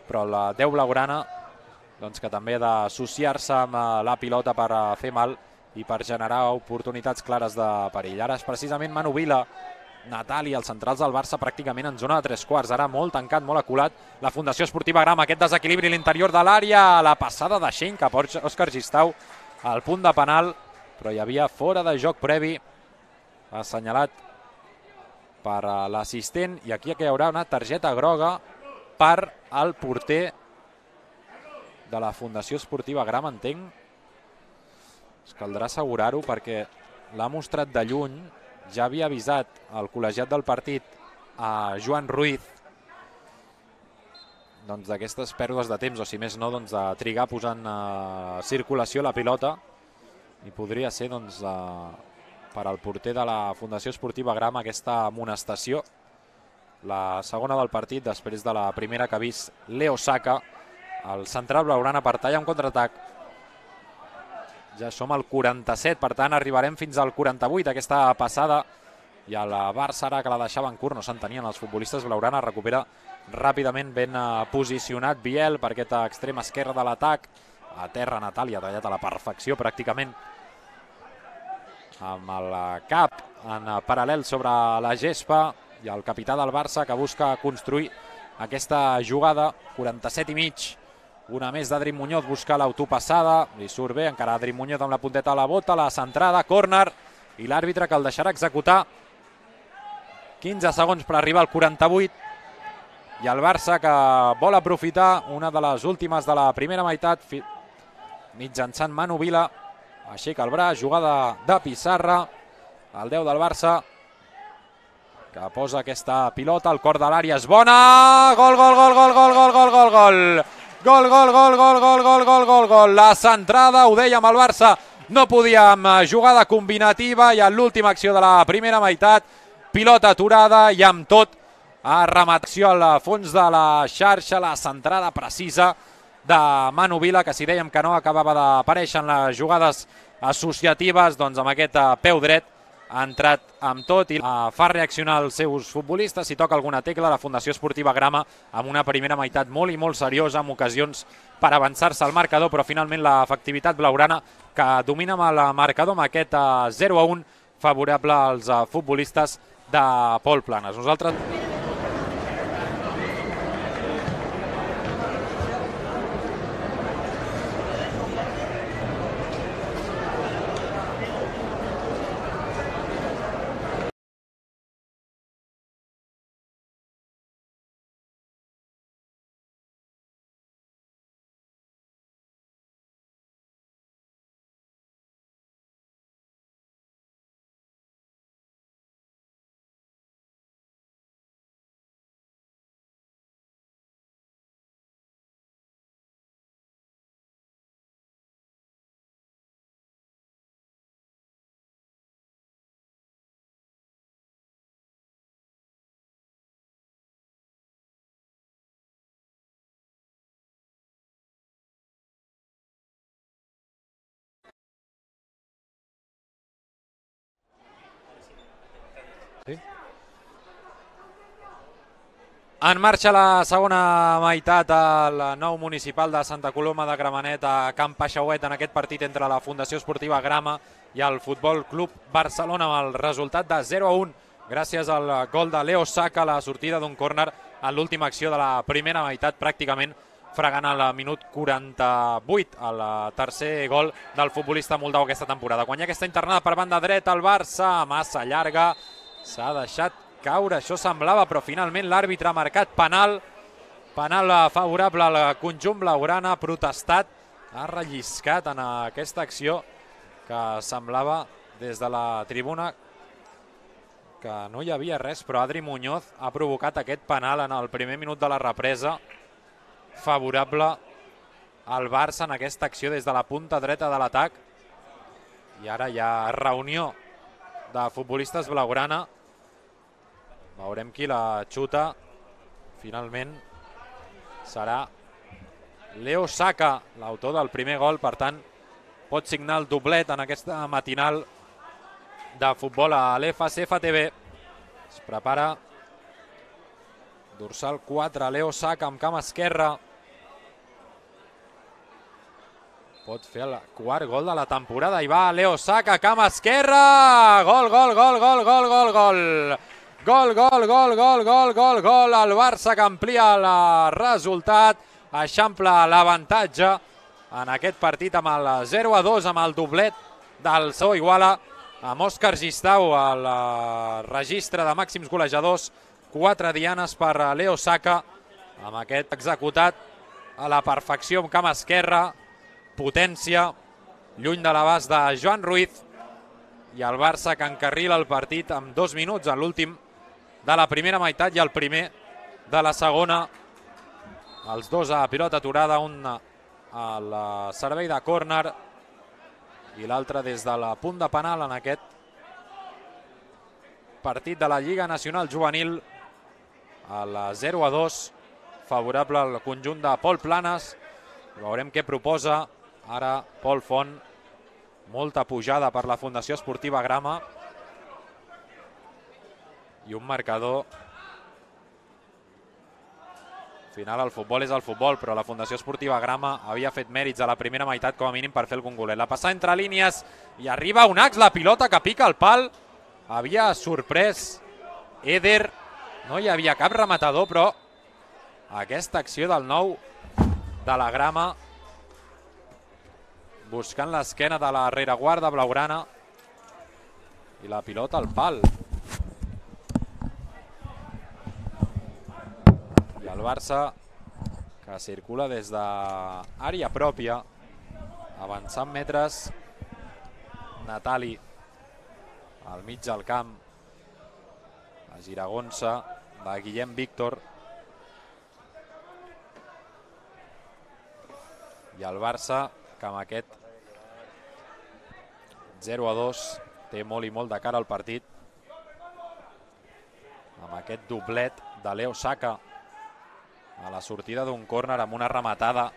però la 10 blaugrana que també ha d'associar-se amb la pilota per fer mal i per generar oportunitats clares de perill. Ara és precisament Manu Vila, Natali, els centrals del Barça pràcticament en zona de 3/4, ara molt tancat, molt aculat la Fundació Esportiva Grama, aquest desequilibri a l'interior de l'àrea, la passada de Shein cap a Òscar Gistau al punt de penal, però hi havia fora de joc previ assenyalat per l'assistent, i aquí hi haurà una targeta groga per al porter de la Fundació Esportiva Grama, entenc. Es caldrà assegurar-ho perquè l'ha mostrat de lluny, ja havia avisat el col·legiat del partit a Joan Ruiz d'aquestes pèrdues de temps, o si més no, de trigar posant circulació la pilota, i podria ser per al porter de la Fundació Esportiva Grama aquesta amonestació, la segona del partit després de la primera que ha vist Leo Saka. El central blaugrana per tallar un contraatac. Ja som al 47, per tant arribarem fins al 48, aquesta passada, i el Barça, ara que la deixava en curt, no s'entenien els futbolistes blaugrana, recupera ràpidament ben posicionat Biel per aquest extrem esquerre de l'atac. A terra Natali ha tallat a la perfecció pràcticament amb el cap en paral·lel sobre la gespa, i el capità del Barça que busca construir aquesta jugada. 47 i mig, una més d'Adri Muñoz, busca l'autopassada, li surt bé, encara Adri Muñoz amb la punteta a la bota, la centrada, córner, i l'àrbitre que el deixarà executar. 15 segons per arribar al 48, i el Barça que vol aprofitar una de les últimes de la primera meitat mitjançant Manu Vila. Aixeca el braç, jugada de Pissarra, el 10 del Barça que posa aquesta pilota al cor de l'àrea, és bona, gol, gol, gol, gol, gol, gol, gol, gol, gol, gol, gol, gol, gol, gol, gol, gol, gol, gol, la centrada, ho dèiem, el Barça no podia amb jugada combinativa, i en l'última acció de la primera meitat, pilota aturada i amb tot a rematació al fons de la xarxa, la centrada precisa de Manu Vila, que si dèiem que no acabava d'aparèixer en les jugades associatives, doncs amb aquest peu dret ha entrat amb tot i fa reaccionar els seus futbolistes. Si toca alguna tecla, la Fundació Esportiva Grama amb una primera meitat molt i molt seriosa, amb ocasions per avançar-se al marcador, però finalment l'efectivitat blaugrana que domina amb el marcador amb aquest 0-1 favorable als futbolistes de Pol Planes. Nosaltres En marxa la segona meitat al nou municipal de Santa Coloma de Gramenet a Camp Paixauet en aquest partit entre la Fundació Esportiva Grama i el Futbol Club Barcelona amb el resultat de 0-1 gràcies al gol de Leo Saka a la sortida d'un córner en l'última acció de la primera meitat, pràcticament fregant al minut 48 el tercer gol del futbolista moldau aquesta temporada. Quan hi ha aquesta internada per banda dreta, el Barça massa llarga, s'ha deixat caure, això semblava, però finalment l'àrbitre ha marcat penal favorable al conjunt blaugrana, ha protestat, ha relliscat en aquesta acció que semblava des de la tribuna que no hi havia res, però Adri Muñoz ha provocat aquest penal en el primer minut de la represa favorable al Barça en aquesta acció des de la punta dreta de l'atac, i ara hi ha reunió de futbolistes blaugrana. Veurem qui la xuta. Finalment serà Leo Saka, l'autor del primer gol, per tant pot signar el doblet en aquesta matinal de futbol a l'FCF TV. Es prepara dorsal 4, Leo Saka amb cama esquerra. Pot fer el quart gol de la temporada i va Leo Saka, cama esquerra, gol, gol, gol, gol, gol, gol, gol. Gol, gol, gol, gol, gol, gol, gol, el Barça que amplia el resultat, eixampla l'avantatge en aquest partit amb el 0-2, amb el doblet del Sau Iguala, amb Òscar Gistau al registre de màxims golejadors, 4 dianes per Leo Saka, amb aquest executat a la perfecció amb cama esquerra, potència, lluny de l'abast de Joan Ruiz, i el Barça que encarrila el partit amb 2 minuts en l'últim de la primera meitat i el primer de la segona. Els dos a pilota aturada, un al servei de córner i l'altre des de la punt de penal en aquest partit de la Lliga Nacional Juvenil. El 0-2 favorable al conjunt de Pol Planes. Veurem què proposa ara Pol Font. Molta pujada per la Fundació Esportiva Grama i un marcador. Al final el futbol és el futbol, però la Fundació Esportiva Grama havia fet mèrits a la primera meitat com a mínim per fer algun golet. La passada entre línies i arriba Unax, la pilota que pica el pal. Havia sorprès Eder, no hi havia cap rematador, però aquesta acció del nou de la Grama buscant l'esquena de la rereguarda blaugrana i la pilota al pal. I el Barça que circula des d'àrea pròpia, avançant metres. Natali al mig del camp, la giragonsa de Guillem Víctor, i el Barça que amb aquest 0-2 té molt i molt de cara al partit, amb aquest doblet de Leo Saka a la sortida d'un córner amb una rematada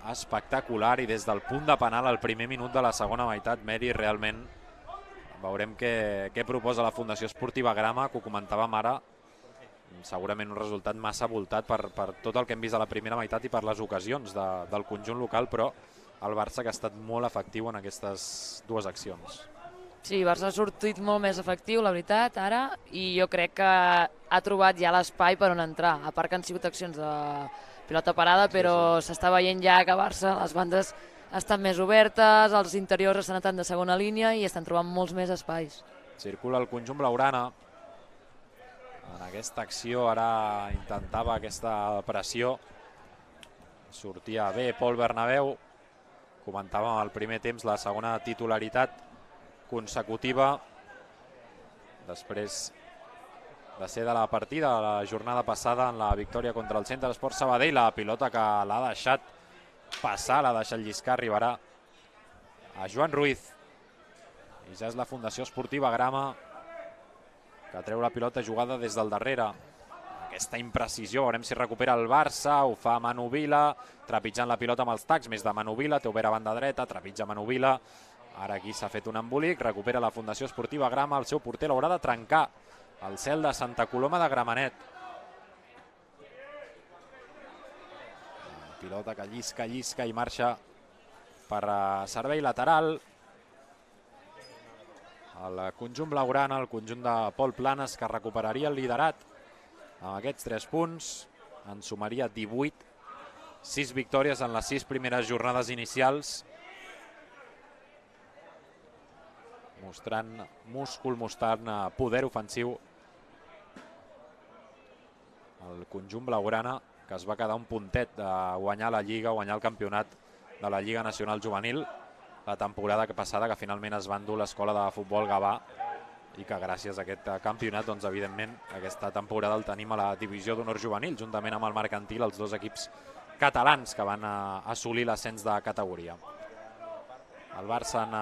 espectacular i des del punt de penal al primer minut de la segona meitat. Meri, realment veurem què proposa la Fundació Esportiva Grama, que ho comentàvem ara, segurament un resultat massa voltat per tot el que hem vist a la primera meitat i per les ocasions del conjunt local, però el Barça que ha estat molt efectiu en aquestes dues accions. Sí, el Barça ha sortit molt més efectiu, la veritat, ara, i jo crec que ha trobat ja l'espai per on entrar, a part que han sigut accions de pilota parada, però s'està veient ja que a Barça les bandes estan més obertes, els interiors estan anant de segona línia i estan trobant molts més espais. Circula el conjunt blaugrana. En aquesta acció ara intentava aquesta pressió. Sortia bé Pol Bernabéu. Comentàvem al primer temps la segona titularitat consecutiva després de ser de la partida de la jornada passada en la victòria contra el Centre Esport Sabadell. La pilota que l'ha deixat passar, l'ha deixat lliscar, arribarà a Joan Ruiz. I ja és la Fundació Esportiva Grama que treu la pilota jugada des del darrere. Aquesta imprecisió, veurem si recupera el Barça, ho fa Manu Vila, trepitjant la pilota amb els tacs, més de Manu Vila, té obert a banda dreta, trepitja Manu Vila, Ara aquí s'ha fet un embolic, recupera la Fundació Esportiva Grama, el seu porter l'haurà de trencar. El cel de Santa Coloma de Gramenet. Pilota que llisca i marxa per servei lateral. El conjunt blaugrana, el conjunt de Pol Planes, que recuperaria el liderat amb aquests 3 punts. En sumaria 18, 6 victòries en les 6 primeres jornades inicials. Mostrant múscul, mostrant poder ofensiu. El conjunt blaugrana, que es va quedar un puntet de guanyar la Lliga, guanyar el campionat de la Lliga Nacional Juvenil la temporada passada, que finalment es va endur l'escola de futbol Gavà, i que gràcies a aquest campionat, doncs evidentment aquesta temporada el tenim a la divisió d'honor juvenil, juntament amb el Mercantil, els 2 equips catalans que van assolir l'ascens de categoria. El Barça en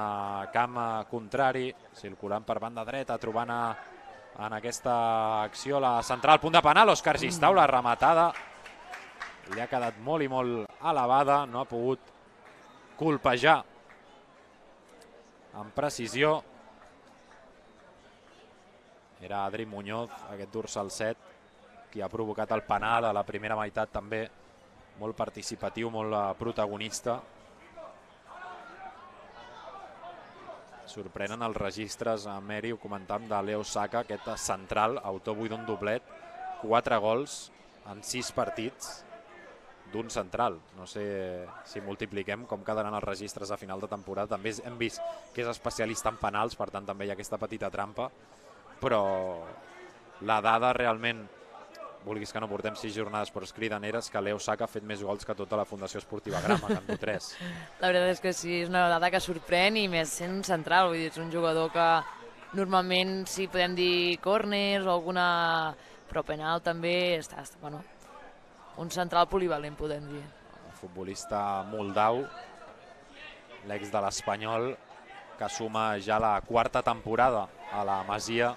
camp contrari, circulant per banda dreta, trobant en aquesta acció la central, punt de penal, Òscar Gistau, la rematada li ha quedat molt i molt elevada, no ha pogut colpejar amb precisió. Era Adri Muñoz, aquest dorsal 7, qui ha provocat el penal a la primera meitat, també molt participatiu, molt protagonista. Sorprenen els registres, a Meri, ho comentàvem, de Leo Saka, aquest central, autor avui d'un doblet, 4 gols en 6 partits d'un central. No sé si multipliquem com quedaran els registres a final de temporada. També hem vist que és especialista en penals, per tant també hi ha aquesta petita trampa, però la dada realment, vulguis que no portem 6 jornades, però és cridaneres, que Leo Saka ha fet més gols que tota la Fundació Esportiva Grama, que en du 3. La veritat és que sí, és una dada que sorprèn, i més sent un central, vull dir, és un jugador que normalment, si podem dir córners o alguna, però penal també està, bueno, un central polivalent, podem dir. Un futbolista moldau, l'ex de l'Espanyol, que suma ja la 4a temporada a la Masia,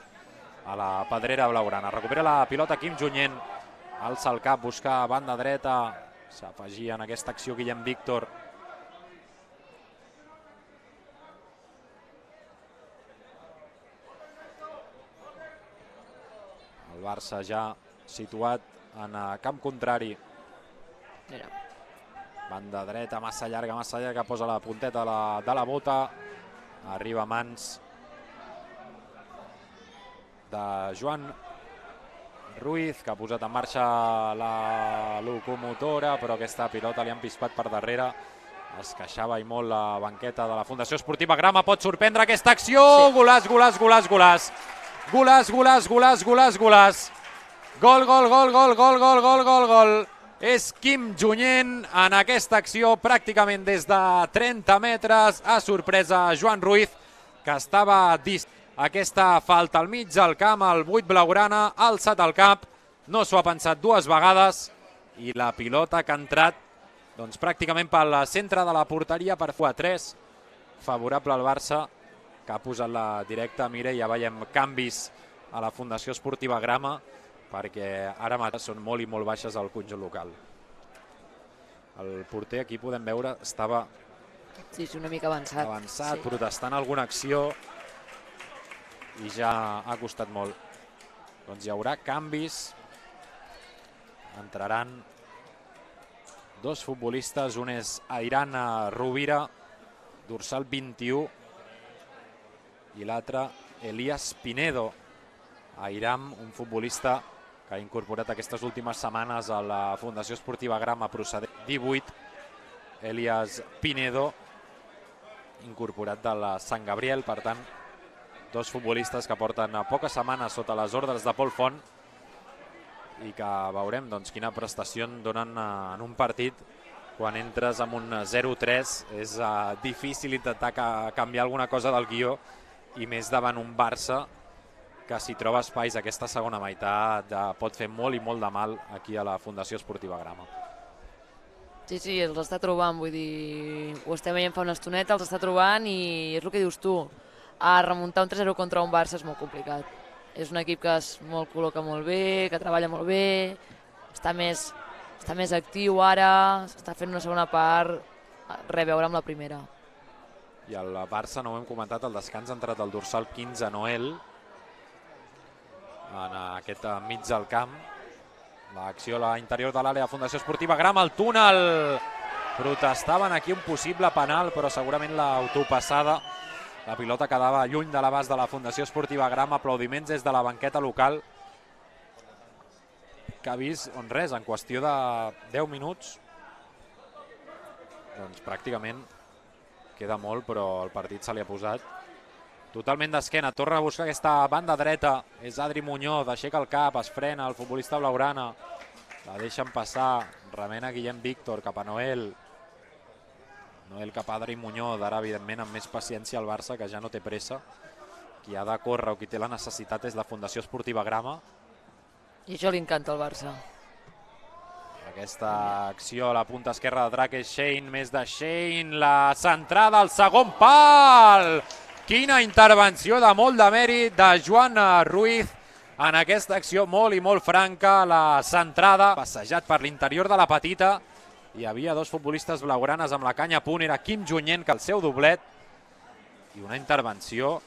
a la pedrera blaugrana. Recupera la pilota Quim Junyent, alça el cap, busca banda dreta, s'afegia en aquesta acció Guillem Víctor. El Barça ja situat en camp contrari. Mira. Banda dreta, massa llarga, posa la punteta de la bota, arriba a mans de Joan Ruiz, que ha posat en marxa la locomotora, però aquesta pilota li han pispat per darrere. Es queixava i molt la banqueta de la Fundació Esportiva Grama. Pot sorprendre aquesta acció. Sí. Golaç, golaç, golaç, golaç. Golaç, golaç, golaç, golaç, golaç. Gol, gol, gol, gol, gol, gol, gol, gol, gol. És Quim Junyent en aquesta acció, pràcticament des de 30 metres. Ha sorprès a Joan Ruiz, que estava dist. Aquesta falta al mig del camp, el 8 blaugrana, ha alçat el cap, no s'ho ha pensat 2 vegades, i la pilota que ha entrat doncs, pràcticament pel centre de la porteria per 4-3, favorable al Barça, que ha posat la directa. Mira, ja veiem canvis a la Fundació Esportiva Grama, perquè ara mateix són molt i molt baixes al conjunt local. El porter, aquí podem veure, estava sí, una mica avançat, sí, protestant alguna acció, i ja ha costat molt. Doncs hi haurà canvis. Entraran 2 futbolistes, un és Airan Rovira, dorsal 21, i l'altre Elias Pinedo. Airam, un futbolista que ha incorporat aquestes últimes setmanes a la Fundació Esportiva Grama, procedent 18. Elias Pinedo, incorporat de la Sant Gabriel, per tant, 2 futbolistes que porten poques setmanes sota les ordres de Pol Font, i que veurem doncs, quina prestació donen en un partit quan entres amb un 0-3. És difícil intentar canviar alguna cosa del guió, i més davant un Barça que, si troba espais aquesta segona meitat, pot fer molt i molt de mal aquí a la Fundació Esportiva Grama. Sí, sí, els està trobant, vull dir, ho estem veient fa una estoneta, els està trobant, i és el que dius tu. A remuntar un 3-0 contra un Barça és molt complicat. És un equip que es col·loca molt bé, que treballa molt bé, està més actiu ara, s'està fent una segona part, res a veure amb la primera. I el Barça, no ho hem comentat, al descans ha entrat el dorsal 15, Noel, en aquest mig del camp. L'acció a l'interior de l'àrea, Fundació Esportiva Grama, el túnel. Protestaven aquí un possible penal, però segurament l'autopassada. La pilota quedava lluny de l'abast de la Fundació Esportiva Grama. Aplaudiments des de la banqueta local, que ha vist, on res, en qüestió de 10 minuts, doncs pràcticament queda molt, però el partit se li ha posat totalment d'esquena. Torna a buscar aquesta banda dreta, és Adri Muñoz, aixeca el cap, es frena el futbolista blaugrana, la deixen passar, remena Guillem Víctor cap a Noel, Noel cap a Adri Muñoz. Ara evidentment amb més paciència el Barça, que ja no té pressa. Qui ha de córrer o qui té la necessitat és la Fundació Esportiva Grama. I això li encanta al Barça. Aquesta acció a la punta esquerra de Drac és Shane, més de Shane, la centrada al segon pal. Quina intervenció de molt de mèrit de Joan Ruiz en aquesta acció molt i molt franca. La centrada, passejat per l'interior de la petita. Hi havia dos futbolistes blaugranes amb la canya a punt, era Quim Junyent, que el seu doblet, i una intervenció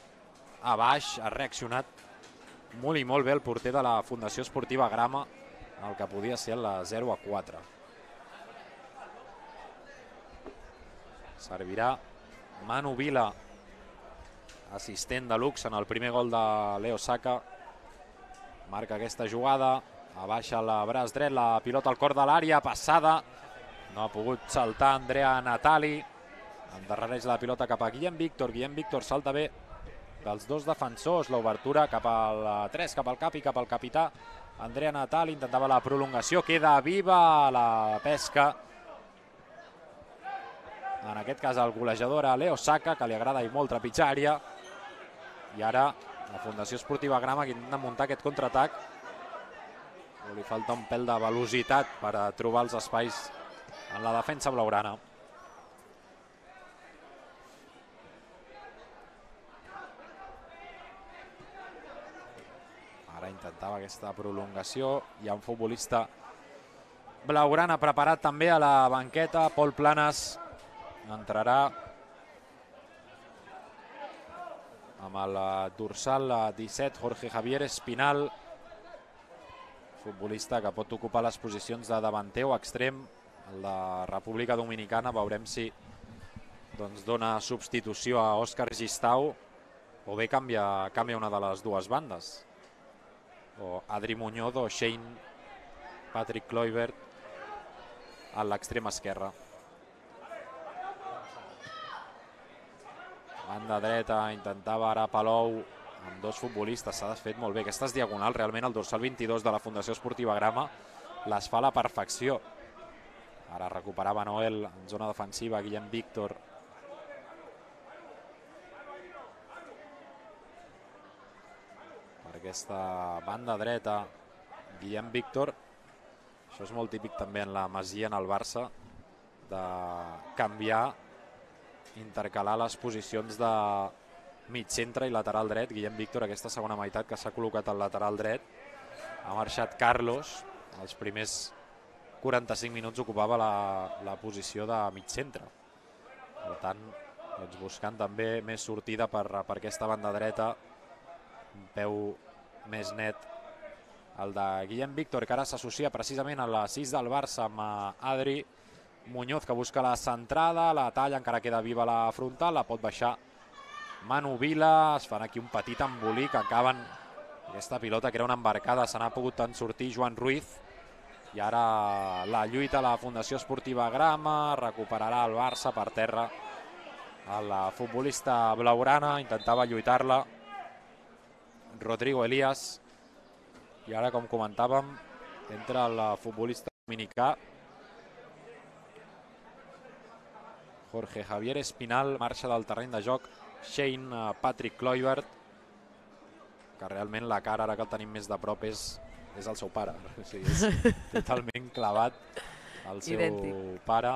a baix. Ha reaccionat molt i molt bé el porter de la Fundació Esportiva Grama, el que podia ser la 0-4. Servirà Manu Vila, assistent de luxe en el primer gol de Leo Saka. Marca aquesta jugada, abaixa el braç dret, la pilota al cor de l'àrea, passada. No ha pogut saltar Andrea Natali. Endarrereix la pilota cap a Guillem Víctor. Guillem Víctor salta bé dels dos defensors. L'obertura cap al 3, cap al cap i cap al capità. Andrea Natali intentava la prolongació. Queda viva la pesca. En aquest cas el golejador a Leo Saka, que li agrada i molt trepitjar àrea. I ara la Fundació Esportiva Grama, que intenta muntar aquest contraatac. Li falta un pèl de velocitat per trobar els espais en la defensa blaugrana. Ara intentava aquesta prolongació. Hi ha un futbolista blaugrana preparat també a la banqueta. Pol Planes entrarà amb el dorsal 17, Jorge Javier Espinal, futbolista que pot ocupar les posicions de davanter o extrem. El de República Dominicana veurem si dona substitució a Òscar Gistau o bé canvia una de les dues bandes, o Adri Muñoz o Shane Patrick Kluivert a l'extrem esquerra. Banda dreta, intentava ara Palou amb dos futbolistes, s'ha desfet molt bé. Aquestes diagonals, realment el dorsal 22 de la Fundació Esportiva Grama les fa a la perfecció. Ara recuperava Noel en zona defensiva, Guillem Víctor. Per aquesta banda dreta, Guillem Víctor. Això és molt típic també en la Masia, en el Barça, de canviar, intercalar les posicions de mig centre i lateral dret. Guillem Víctor, aquesta segona meitat, que s'ha col·locat al lateral dret. Ha marxat Carlos. Els primers 45 minuts ocupava la posició de mig centre. Per tant, buscant també més sortida per aquesta banda dreta. Un peu més net el de Guillem Víctor, que ara s'associa precisament a la 6 del Barça amb Adri Muñoz, que busca la centrada, la talla, encara queda viva la frontal, la pot baixar Manu Vila. Es fan aquí un petit embolic, acaben aquesta pilota, que era una embarcada, se n'ha pogut en sortir Joan Ruiz. I ara la lluita a la Fundació Esportiva Grama, recuperarà el Barça per terra. El futbolista blaugrana intentava lluitar-la, Rodrigo Elías. I ara, com comentàvem, entra el futbolista dominicà, Jorge Javier Espinal. Marxa del terreny de joc Shane Patrick Kluivert, que realment la cara, ara que el tenim més de prop, és el seu pare. O sigui, és totalment clavat el seu pare.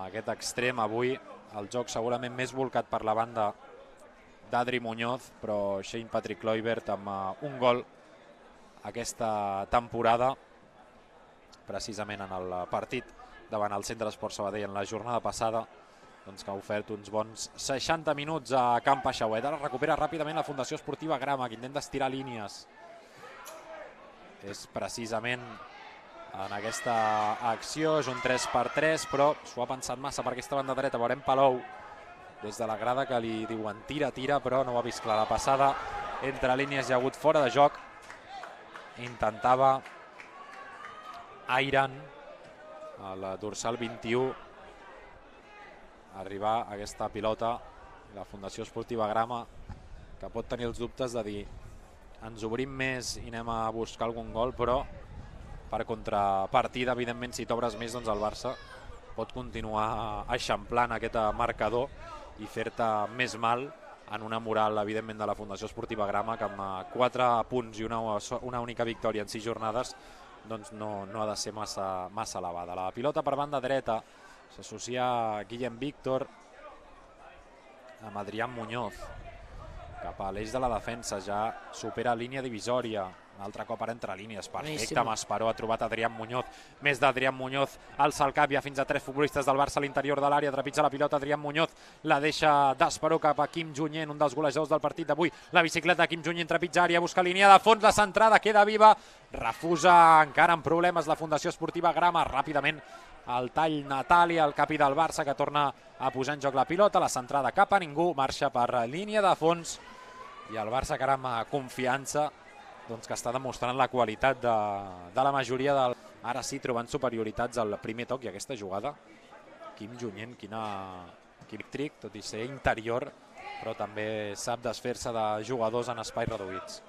Aquest extrem avui, el joc segurament més volcat per la banda d'Adri Muñoz, però Shane Patrick Kluivert amb un gol aquesta temporada, precisament en el partit davant el Centre d'Esport Sabadell en la jornada passada. doncs, que ha ofert uns bons 60 minuts a Camp Peixauet. Ara recupera ràpidament la Fundació Esportiva Grama, que intenta estirar línies. És precisament en aquesta acció, és un 3x3, però s'ho ha pensat massa per aquesta banda dreta. Veurem Palou des de la grada que li diuen tira, però no ho ha vist clar. La passada entre línies hi ha hagut fora de joc. Intentava Airan, el dorsal 21, arribar a aquesta pilota. La Fundació Esportiva Grama, que pot tenir els dubtes de dir ens obrim més i anem a buscar algun gol, però per contrapartida, evidentment, si t'obres més, doncs el Barça pot continuar eixamplant aquest marcador i fer-te més mal en una moral, evidentment, de la Fundació Esportiva Grama, que amb 4 punts i una única victòria en 6 jornades doncs no ha de ser massa elevada. La pilota per banda dreta s'associa Guillem Víctor amb Adrián Muñoz cap a l'eix de la defensa, ja supera línia divisòria. Un altre cop ara entre línies, perfecte. Masparó ha trobat Adrián Muñoz, més d'Adrián Muñoz, alça el cap, hi ha fins a 3 futbolistes del Barça a l'interior de l'àrea, trepitja la pilota Adrián Muñoz, la deixa d'Esperó cap a Quim Junyent, un dels golejadors del partit d'avui. La bicicleta de Quim Junyent trepitja àrea, busca línia de fons, la centrada queda viva, refusa encara amb problemes la Fundació Esportiva Grama. Ràpidament el tall Natàlia, el capi del Barça, que torna a posar en joc la pilota, la centrada cap a ningú, marxa per línia de fons, i el Barça encara amb confiança, doncs, que està demostrant la qualitat de la majoria del... Ara sí, trobant superioritats al primer toc i aquesta jugada. Quim Junyent, quin trick, tot i ser interior, però també sap desfer-se de jugadors en espais reduïts.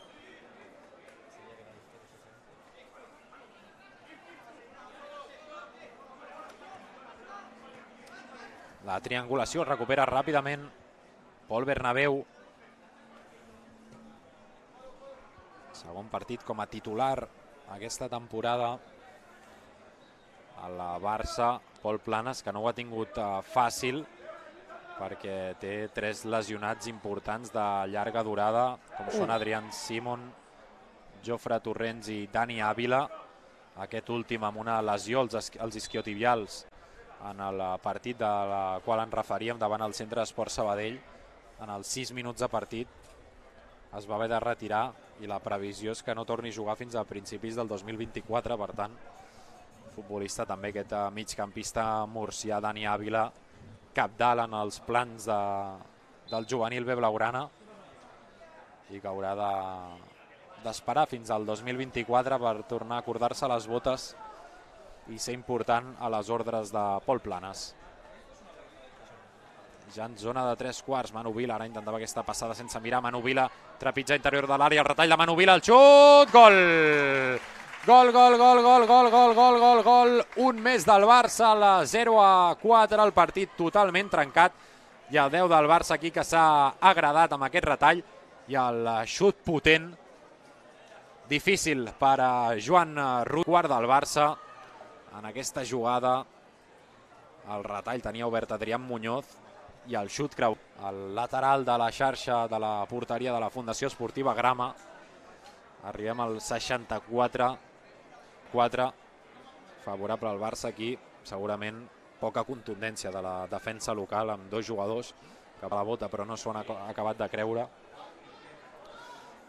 La triangulació recupera ràpidament Pol Bernabéu. Segon partit com a titular aquesta temporada al Barça. Pol Planes, que no ho ha tingut fàcil perquè té 3 lesionats importants de llarga durada, com són Adrián Simon, Jofre Torrents i Dani Ávila. Aquest últim amb una lesió als isquiotibials en el partit de la qual ens referíem davant el Centre d'Esport Sabadell. En els 6 minuts de partit es va haver de retirar i la previsió és que no torni a jugar fins a principis del 2024. Per tant, futbolista també aquest migcampista murcià Dani Ávila, cabdal en els plans del juvenil B blaugrana, i que haurà d'esperar fins al 2024 per tornar a acordar-se les botes i ser important a les ordres de Pol Planes. Ja en zona de 3/4, Manu Vila ara intentava aquesta passada sense mirar. Manu Vila trepitja interior de l'àrea, el retall de Manu Vila, el xut, gol! Gol, gol, gol, gol, gol, gol, gol, gol, gol. Un més del Barça, a 0-4, el partit totalment trencat, i el 10 del Barça aquí que s'ha agradat amb aquest retall i el xut potent, difícil per a Joan Ruiz, quart del Barça. En aquesta jugada el retall tenia obert Adrián Muñoz i el xut creu el lateral de la xarxa de la porteria de la Fundació Esportiva Grama. Arribem al 64-4, favorable al Barça aquí. Segurament poca contundència de la defensa local amb 2 jugadors que a la bota però no s'ho han acabat de creure.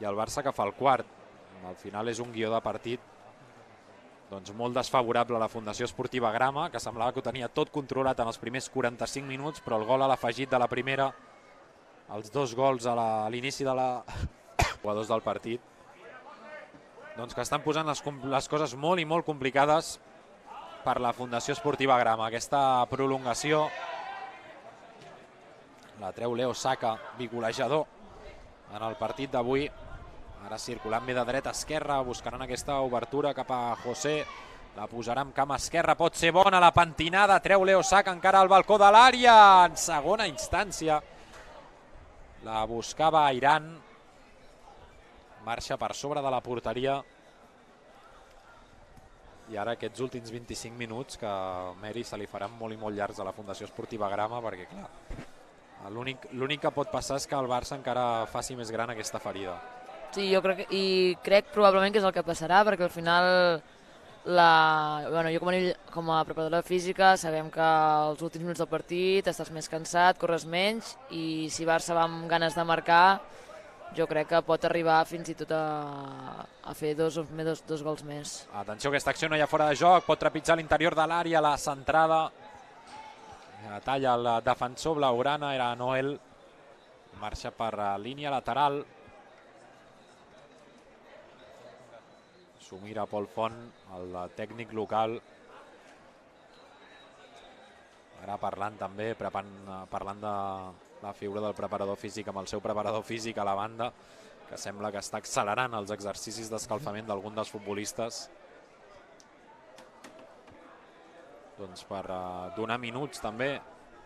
I el Barça que fa el quart. Al final és un guió de partit doncs molt desfavorable a la Fundació Esportiva Grama, que semblava que ho tenia tot controlat en els primers 45 minuts, però el gol a l'afegit de la primera, els 2 gols a l'inici de la jugadors del partit, doncs que estan posant les coses molt i molt complicades per la Fundació Esportiva Grama. Aquesta prolongació la treu Leo Saka, bigolejador en el partit d'avui. Ara circulant bé de dreta a esquerra, buscaran aquesta obertura cap a José. La posarà amb cama esquerra, pot ser bona la pentinada, treu Leo Saka encara al balcó de l'àrea. En segona instància la buscava Airan. Marxa per sobre de la porteria. I ara aquests últims 25 minuts que Meri se li faran molt i molt llargs a la Fundació Esportiva Grama, perquè clar, l'únic que pot passar és que el Barça encara faci més gran aquesta ferida. Sí, jo crec probablement que és el que passarà, perquè al final Bueno, jo com a preparadora física sabem que els últims minuts del partit estàs més cansat, corres menys i si Barça va amb ganes de marcar jo crec que pot arribar fins i tot a fer dos gols més. Atenció, aquesta acció no hi ha fora de joc, pot trepitjar l'interior de l'àrea, la centrada. Talla el defensor blaugrana, era Noel. Marxa per línia lateral. S'ho mira Pol Font, el tècnic local. Ara parlant també, parlant de la figura del preparador físic amb el seu preparador físic a la banda, que sembla que està accelerant els exercicis d'escalfament d'algun dels futbolistes. Doncs per donar minuts també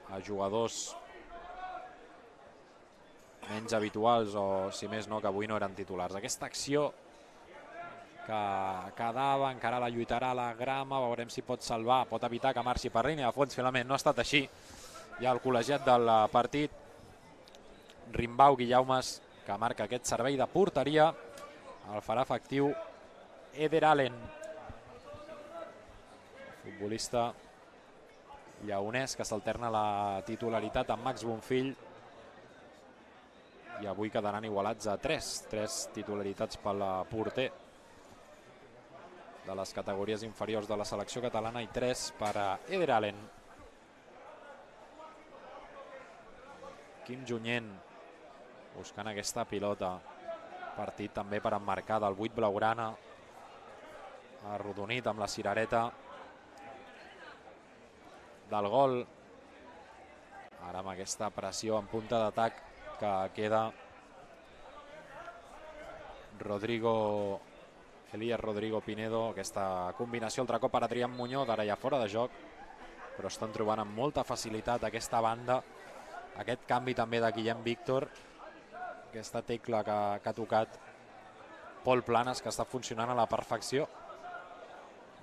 a jugadors menys habituals o, si més no, que avui no eren titulars. Aquesta acció que quedava, encara la lluitarà la Grama, veurem si pot salvar, pot evitar que marxi per línia de fons. Finalment no ha estat així. Hi ha el col·legiat del partit, Rimbau Guillaumes, que marca aquest servei de porteria. El farà efectiu Eder Allen, futbolista lleonès que s'alterna la titularitat amb Max Bonfill, i avui quedaran igualats a 3 titularitats pel porter de les categories inferiors de la selecció catalana i 3 per a Eder Allen. Quim Junyent buscant aquesta pilota. Partit també per emmarcar del 8 blaugrana. Arrodonit amb la cirereta del gol. Ara amb aquesta pressió en punta d'atac que queda Elías Rodrigo Pinedo. Aquesta combinació altre cop per Adrián Muñoz, ara ja fora de joc, però estan trobant amb molta facilitat aquesta banda. Aquest canvi també de Guillem Víctor, aquesta tecla que ha tocat Pol Planes, que està funcionant a la perfecció,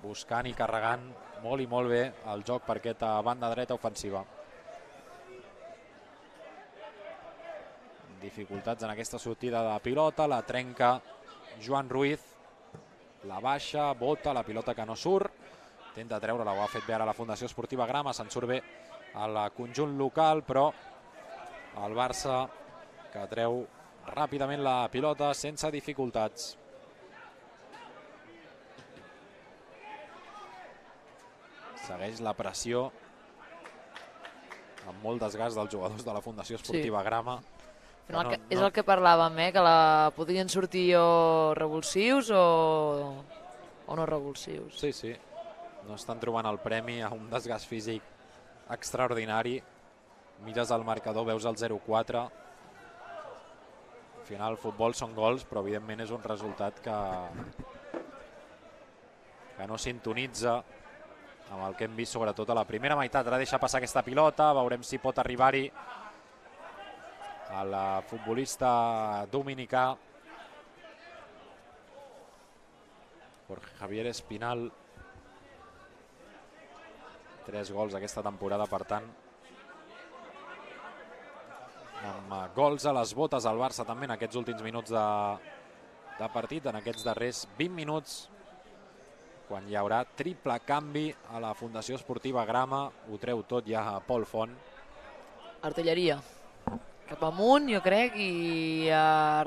buscant i carregant molt i molt bé el joc per aquesta banda dreta ofensiva. Dificultats en aquesta sortida de pilota, la trenca Joan Ruiz, la baixa, bota, la pilota que no surt, intenta treure-la, ho ha fet bé ara la Fundació Esportiva Grama, se'n surt bé al conjunt local, però el Barça que treu ràpidament la pilota sense dificultats. Segueix la pressió amb molt desgast dels jugadors de la Fundació Esportiva Grama. És el que parlàvem, que podrien sortir o revulsius o no revulsius. Sí, sí. No estan trobant el premi a un desgast físic extraordinari. Mires el marcador, veus el 0-4. Al final, el futbol són gols, però evidentment és un resultat que no sintonitza amb el que hem vist sobretot a la primera meitat. Ara deixa passar aquesta pilota, veurem si pot arribar-hi el futbolista dominicà Jorge Javier Espinal. 3 gols aquesta temporada, per tant, amb gols a les botes al Barça també en aquests últims minuts de partit, en aquests darrers 20 minuts, quan hi haurà triple canvi a la Fundació Esportiva Grama. Ho treu tot ja a Pol Font. Artilleria cap amunt, jo crec, i a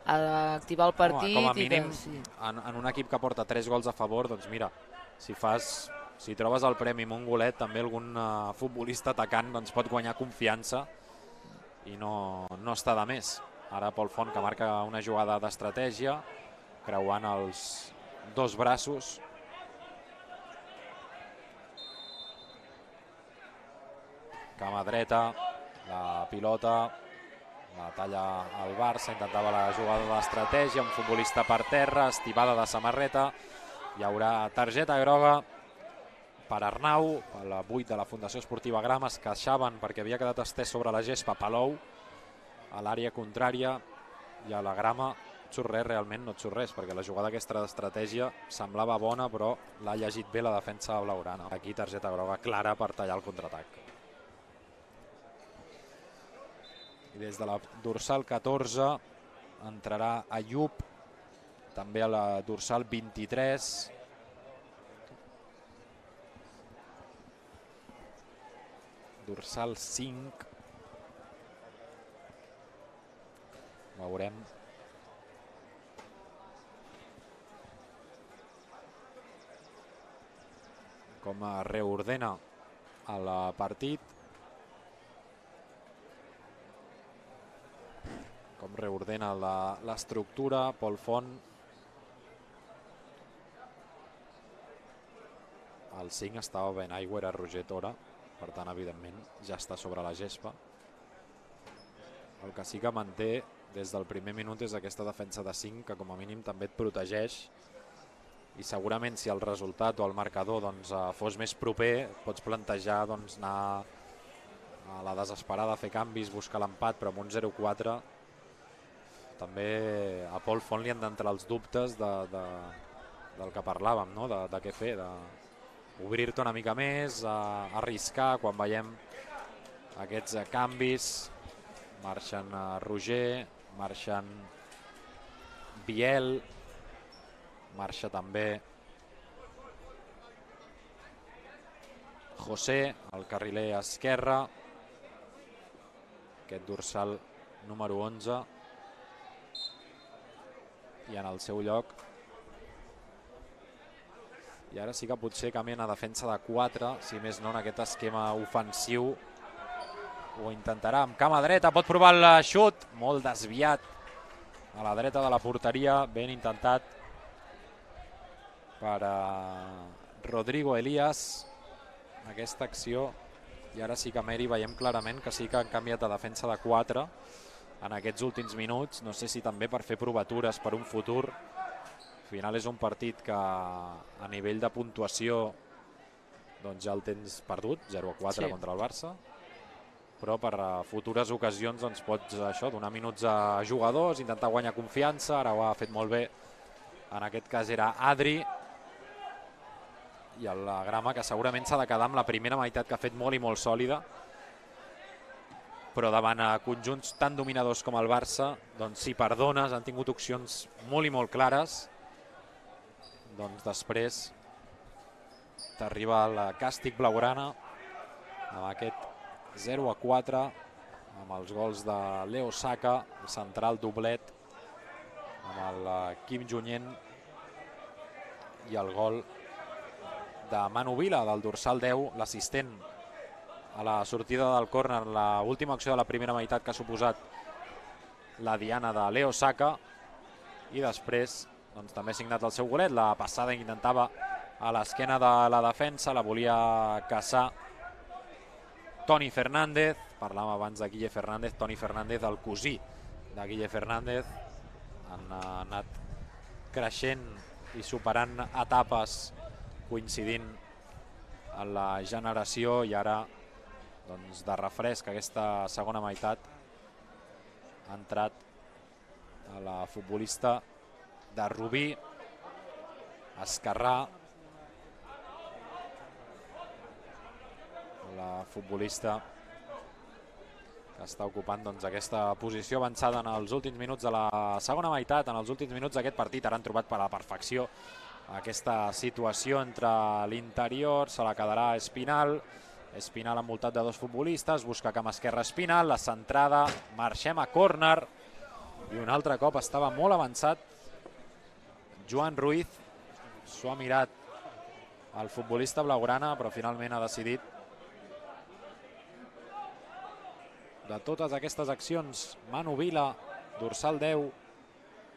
activar el partit. Com a mínim, en un equip que porta 3 gols a favor, doncs mira, si trobes el premi amb un golet, també algun futbolista atacant pot guanyar confiança i no està de més. Ara Pol Font, que marca una jugada d'estratègia, creuant els dos braços. Cama dreta, la pilota, la talla al Barça, intentava la jugada d'estratègia, un futbolista per terra, estivada de samarreta. Hi haurà targeta groga per Arnau, per la 8 de la Fundació Esportiva Grama. Es queixaven perquè havia quedat estès sobre la gespa Palou a l'àrea contrària, i a la Grama surt res, realment no et surt res, perquè la jugada aquesta d'estratègia semblava bona, però l'ha llegit bé la defensa blaugrana. Aquí targeta groga clara per tallar el contraatac. I des de la dorsal 14 entrarà Ayub, també a la dorsal 23, dorsal 5. Veurem. Com reordena el partit. Com reordena l'estructura. Pol Font. El 5 estava ben aigua, era Roger Tora. Per tant, evidentment, ja està sobre la gespa. El que sí que manté des del primer minut és aquesta defensa de 5, que com a mínim també et protegeix. I segurament si el resultat o el marcador fos més proper, pots plantejar anar a la desesperada, a fer canvis, buscar l'empat, però amb un 0-4 també a Pol Font li han d'entrar els dubtes del que parlàvem, no? De què fer, d'obrir-te una mica més, arriscar quan veiem aquests canvis. Marxen Roger, marxen Biel, marxa també José, el carriler esquerre, aquest dorsal número 11, i en el seu lloc, i ara sí que potser canvien a defensa de 4, si més no en aquest esquema ofensiu. Ho intentarà amb cama dreta, pot provar el xut, molt desviat a la dreta de la porteria, ben intentat per Rodrigo Elías aquesta acció. I ara sí que Meri veiem clarament que sí que han canviat a defensa de 4 en aquests últims minuts. No sé si també per fer provatures per un futur. Al final és un partit que a nivell de puntuació ja el tens perdut, 0-4 contra el Barça, però per futures ocasions pots donar minuts a jugadors, intentar guanyar confiança. Ara ho ha fet molt bé, en aquest cas era Adri, i el Grama, que segurament s'ha de quedar amb la primera meitat, que ha fet molt i molt sòlida, però davant conjunts tan dominadors com el Barça, si perdones, han tingut opcions molt i molt clares, després t'arriba el càstig blaugrana amb aquest 0-4, amb els gols de Leo Saka, el central doblet, amb el Kim Junyent, i el gol de Manu Vila, del dorsal 10, l'assistent a la sortida del córner, l'última acció de la primera meitat que ha suposat la diana de Leo Saka, i després també ha signat el seu golet. La passada intentava a l'esquena de la defensa, la volia caçar Toni Fernández, parlàvem abans de Guille Fernández, Toni Fernández, el cosí de Guille Fernández. Han anat creixent i superant etapes, coincidint en la generació, i ara de refresc aquesta segona meitat ha entrat a la futbolista de Rubí, Esquerrà, la futbolista que està ocupant aquesta posició avançada en els últims minuts de la segona meitat, en els últims minuts d'aquest partit. Ara han trobat per a la perfecció aquesta situació entre l'interior, se la quedarà Espinal. Espinal envoltat de dos futbolistes, busca cama esquerra Espinal, la centrada, marxem a córner, i un altre cop estava molt avançat Joan Ruiz, s'ho ha mirat el futbolista blaugrana, però finalment ha decidit. De totes aquestes accions, Manu Vila, dorsal 10,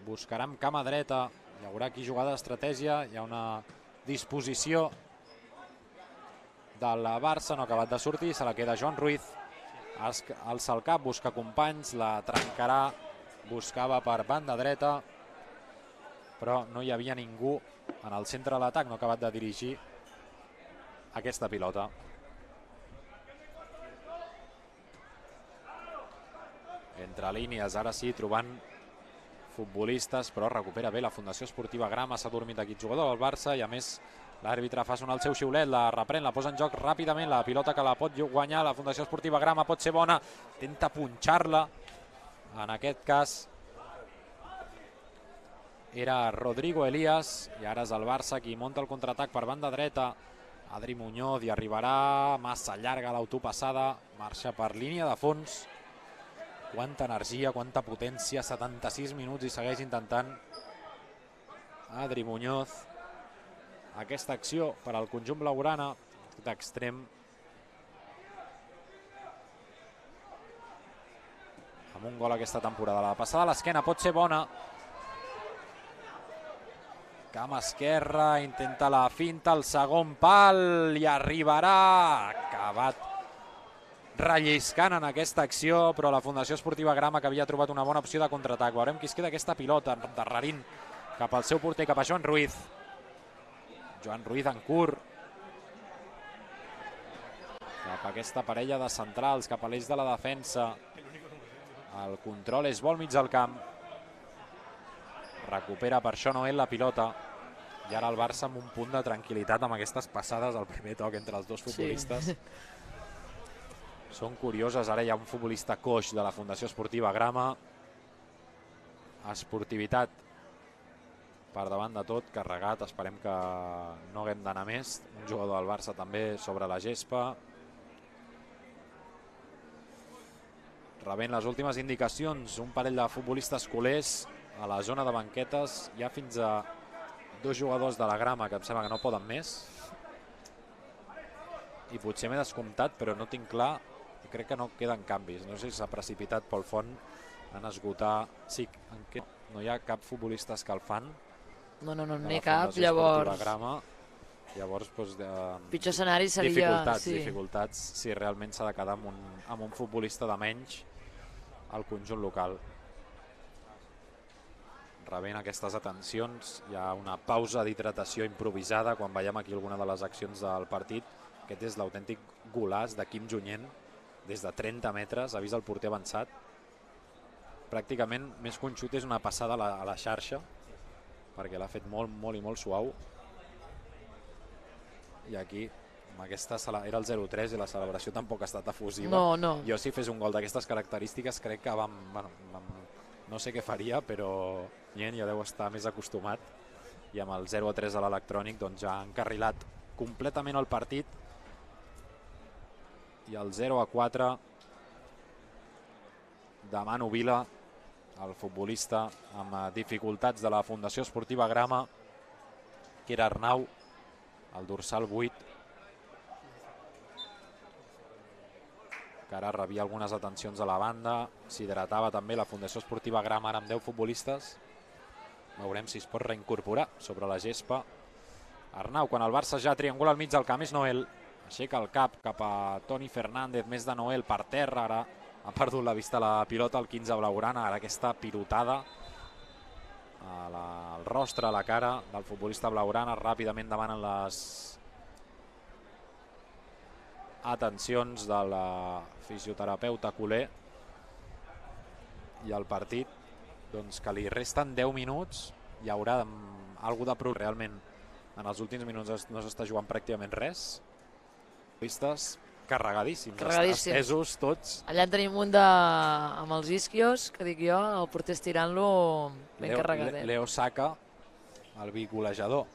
buscarà amb cama dreta, hi haurà aquí jugada d'estratègia, hi ha una disposició del Barça, no ha acabat de sortir, se la queda Joan Ruiz, alça el cap, busca companys, la trencarà, buscava per banda dreta, però no hi havia ningú en el centre de l'atac, no ha acabat de dirigir aquesta pilota. Entre línies, ara sí, trobant futbolistes, però recupera bé la Fundació Esportiva Grama, s'ha dormit aquí el jugador del Barça, i a més l'àrbitre fa sonar el seu xiulet, la reprèn, la posa en joc ràpidament, la pilota que la pot guanyar la Fundació Esportiva Grama, pot ser bona, intenta punxar-la, en aquest cas era Rodrigo Elías, i ara és el Barça qui munta el contraatac per banda dreta Adri Muñoz hi arribarà, massa llarga l'autopassada, marxa per línia de fons. Quanta energia, quanta potència, 76 minuts i segueix intentant Adri Muñoz aquesta acció per al conjunt blaugrana d'extrem. Amb un gol aquesta temporada. La passada a l'esquena pot ser bona. Camp esquerra, intenta la finta, el segon pal i arribarà. Acabat relliscant en aquesta acció, però la Fundació Esportiva Grama, que havia trobat una bona opció de contraatac. Veurem qui es queda aquesta pilota, darrerint cap al seu porter, cap a Joan Ruiz. Joan Ruiz en curt. Cap a aquesta parella de centrals, cap a l'eix de la defensa. El control és bo al mig del camp. Recupera per això Noel la pilota. I ara el Barça amb un punt de tranquil·litat amb aquestes passades al primer toc entre els dos futbolistes. Sí. Són curioses. Ara hi ha un futbolista coix de la Fundació Esportiva Grama. Esportivitat per davant de tot, carregat. Esperem que no haguem d'anar més. Un jugador del Barça també sobre la gespa. Rebent les últimes indicacions, un parell de futbolistes culers a la zona de banquetes. Hi ha fins a 2 jugadors de la Grama que em sembla que no poden més. I potser m'he descomptat, però no tinc clar. Crec que no queden canvis. No sé si s'ha precipitat Pol Font en esgotar. Sí, no hi ha cap futbolista escalfant. No n'hi ha cap, llavors... Llavors, pitjor escenari seria... Dificultats si realment s'ha de quedar amb un futbolista de menys al conjunt local. Rebent aquestes atencions, hi ha una pausa d'hidratació improvisada quan veiem aquí alguna de les accions del partit. Aquest és l'autèntic golaç de Quim Junyent, des de 30 metres, ha vist el porter avançat. Pràcticament, més que un xut, és una passada a la xarxa, perquè l'ha fet molt, molt i molt suau. I aquí, amb aquesta era el 0-3 i la celebració tampoc ha estat efusiva. No. Jo, si fes un gol d'aquestes característiques, crec que no sé què faria, però ja deu estar més acostumat. I amb el 0-3 a l'electrònic doncs ja ha encarrilat completament el partit. I el 0-4 de Manu Vila, el futbolista amb dificultats de la Fundació Esportiva Grama, que era Arnau, el dorsal 8, que ara rebia algunes atencions a la banda. S'hidratava també la Fundació Esportiva Grama, ara amb 10 futbolistes. Veurem si es pot reincorporar sobre la gespa. Arnau, quan el Barça ja triangula al mig del camp, és Noel. Aixeca el cap a Toni Fernández, més de Noel per terra. Ara ha perdut la vista la pilota, el 15 blaugrana. Ara aquesta pilotada al rostre, a la cara del futbolista blaugrana. Ràpidament demanen les atencions de la fisioterapeuta culer. I el partit, doncs, que li resten 10 minuts, hi haurà alguna de prou. Realment en els últims minuts no s'està jugant pràcticament res. Futbolistes carregadíssims, estesos tots. Allà en tenim un amb els isquios, que dic jo, el porter estirant-lo ben carregadet. Leo Saka, el bigolejador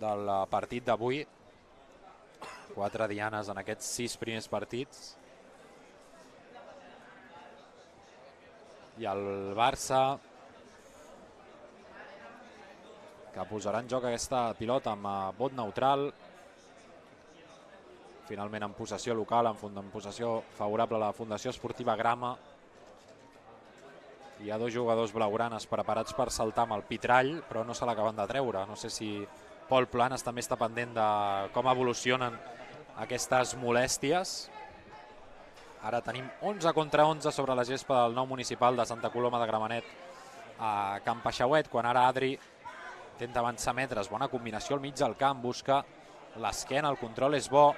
del partit d'avui. 4 dianes en aquests 6 primers partits. I el Barça, que posarà en joc aquesta pilota amb vot neutral. Finalment en possessió local, en possessió favorable a la Fundació Esportiva Grama. Hi ha 2 jugadors blaugranes preparats per saltar amb el pitrall, però no se l'acaben de treure. No sé si Pol Planes també està pendent de com evolucionen aquestes molèsties. Ara tenim 11 contra 11 sobre la gespa del nou municipal de Santa Coloma de Gramenet a Can Paixauet, quan ara Adri intenta avançar metres. Bona combinació al mig del camp, busca l'esquena, el control és bo.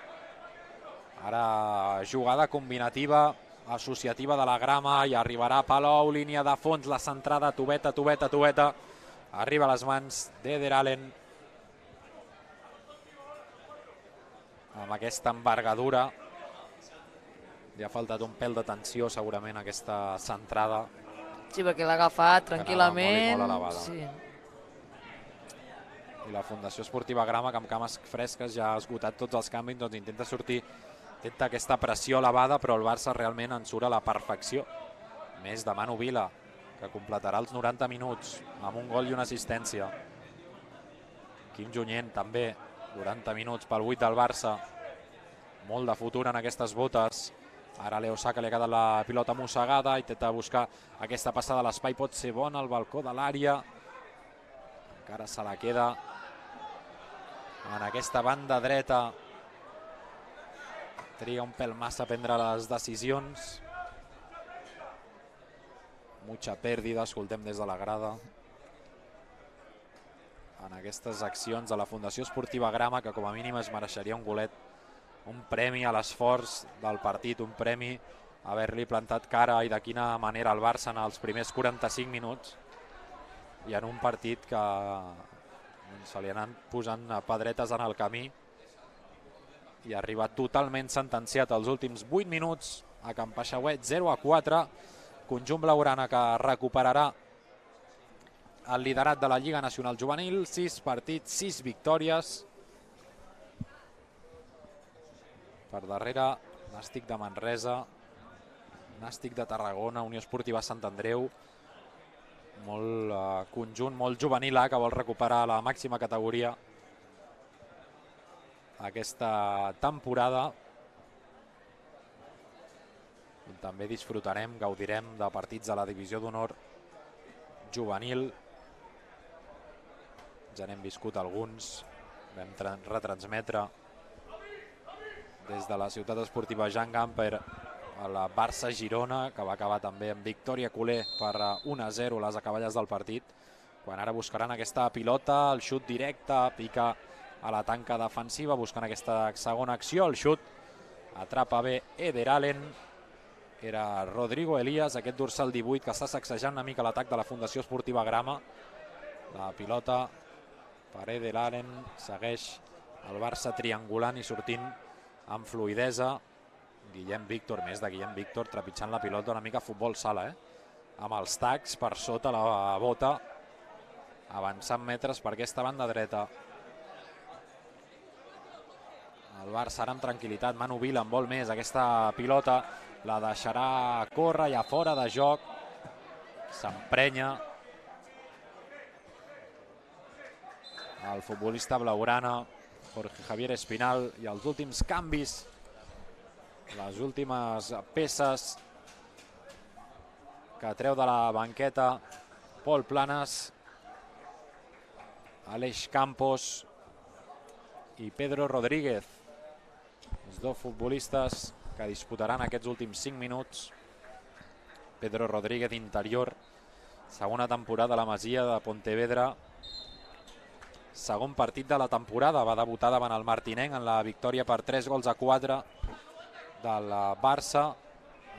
Ara jugada combinativa, associativa de la Grama, i arribarà Palou, línia de fons, la centrada, Tubeta. Arriba a les mans d'Eder Allen. Amb aquesta envergadura li ha faltat un pèl de tensió segurament aquesta centrada. Sí, perquè l'ha agafat tranquil·lament. Molt elevada. Sí. i la Fundació Esportiva Grama, que amb cames fresques ja ha esgotat tots els canvis, doncs intenta sortir, intenta aquesta pressió elevada, però el Barça realment en surt a la perfecció. Més de Manu Vila, que completarà els 90 minuts amb un gol i una assistència. Quim Junyent també, 40 minuts pel 8 del Barça. Molt de futur en aquestes botes. Ara Leo Saka li ha quedat la pilota mossegada, intenta buscar aquesta passada a l'espai, pot ser bona al balcó de l'àrea. Encara se la queda en aquesta banda dreta. Triga un pèl massa a prendre les decisions. Mucha pèrdida, escoltem des de la grada. En aquestes accions de la Fundació Esportiva Grama, que com a mínim es mereixeria un golet, un premi a l'esforç del partit, un premi a haver-li plantat cara i de quina manera al Barça en els primers 45 minuts i en un partit que se li han posant pedretes en el camí i ha arribat totalment sentenciat als últims 8 minuts a Can Paixauet, 0-4, conjunt blaugrana que recuperarà el liderat de la Lliga Nacional Juvenil, 6 partits, 6 victòries. Per darrere, Nàstic de Manresa, Nàstic de Tarragona, Unió Esportiva Sant Andreu, molt conjunt, molt juvenil que vol recuperar la màxima categoria aquesta temporada. També disfrutarem, gaudirem de partits de la divisió d'honor juvenil. Ja n'hem viscut alguns, vam retransmetre des de la ciutat esportiva Jean Gamper a la Barça-Girona, que va acabar també amb victòria culer per 1-0 les acaballes del partit, quan ara buscaran aquesta pilota, el xut directe, pica a la tanca defensiva, buscant aquesta segona acció, el xut, atrapa bé Eder Allen, era Rodrigo Elías, aquest dorsal 18 que està sacsejant una mica l'atac de la Fundació Esportiva Grama. La pilota per Eder Allen, segueix el Barça triangulant i sortint amb fluidesa. Guillem Víctor, més de Guillem Víctor, trepitjant la pilota una mica futbol sala, amb els tacs per sota la bota, avançant metres per aquesta banda dreta. El Barça ara amb tranquil·litat, Manu Vila en vol més, aquesta pilota la deixarà córrer ja fora de joc, s'emprenya el futbolista blaugrana Jorge Javier Espinal, i els últims canvis, les últimes peces que treu de la banqueta Pol Planas, Aleix Campos i Pedro Rodríguez, els dos futbolistes que disputaran aquests últims 5 minuts. Pedro Rodríguez, interior, segona temporada a la Masia de Pontevedra, segon partit de la temporada, va debutar davant el Martinenc en la victòria per 3-4 del Barça,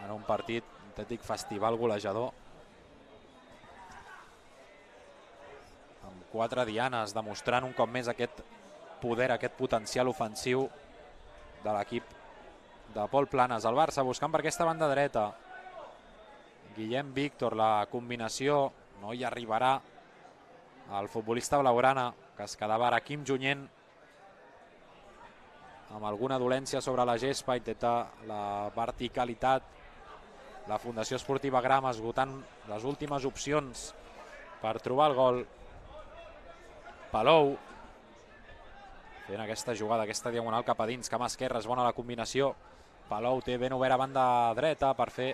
en un partit, un autèntic festival golejador, amb 4 dianes, demostrant un cop més aquest poder, aquest potencial ofensiu de l'equip de Pol Planas. El Barça buscant per aquesta banda dreta, Guillem Víctor, la combinació no hi arribarà el futbolista blaugrana, que es quedava ara Quim Junyent amb alguna dolència sobre la gespa, intenta la verticalitat. La Fundació Esportiva Grama esgotant les últimes opcions per trobar el gol. Palou fent aquesta jugada, aquesta diagonal cap a dins, cama esquerra, és bona la combinació. Palou té ben obert a banda dreta per fer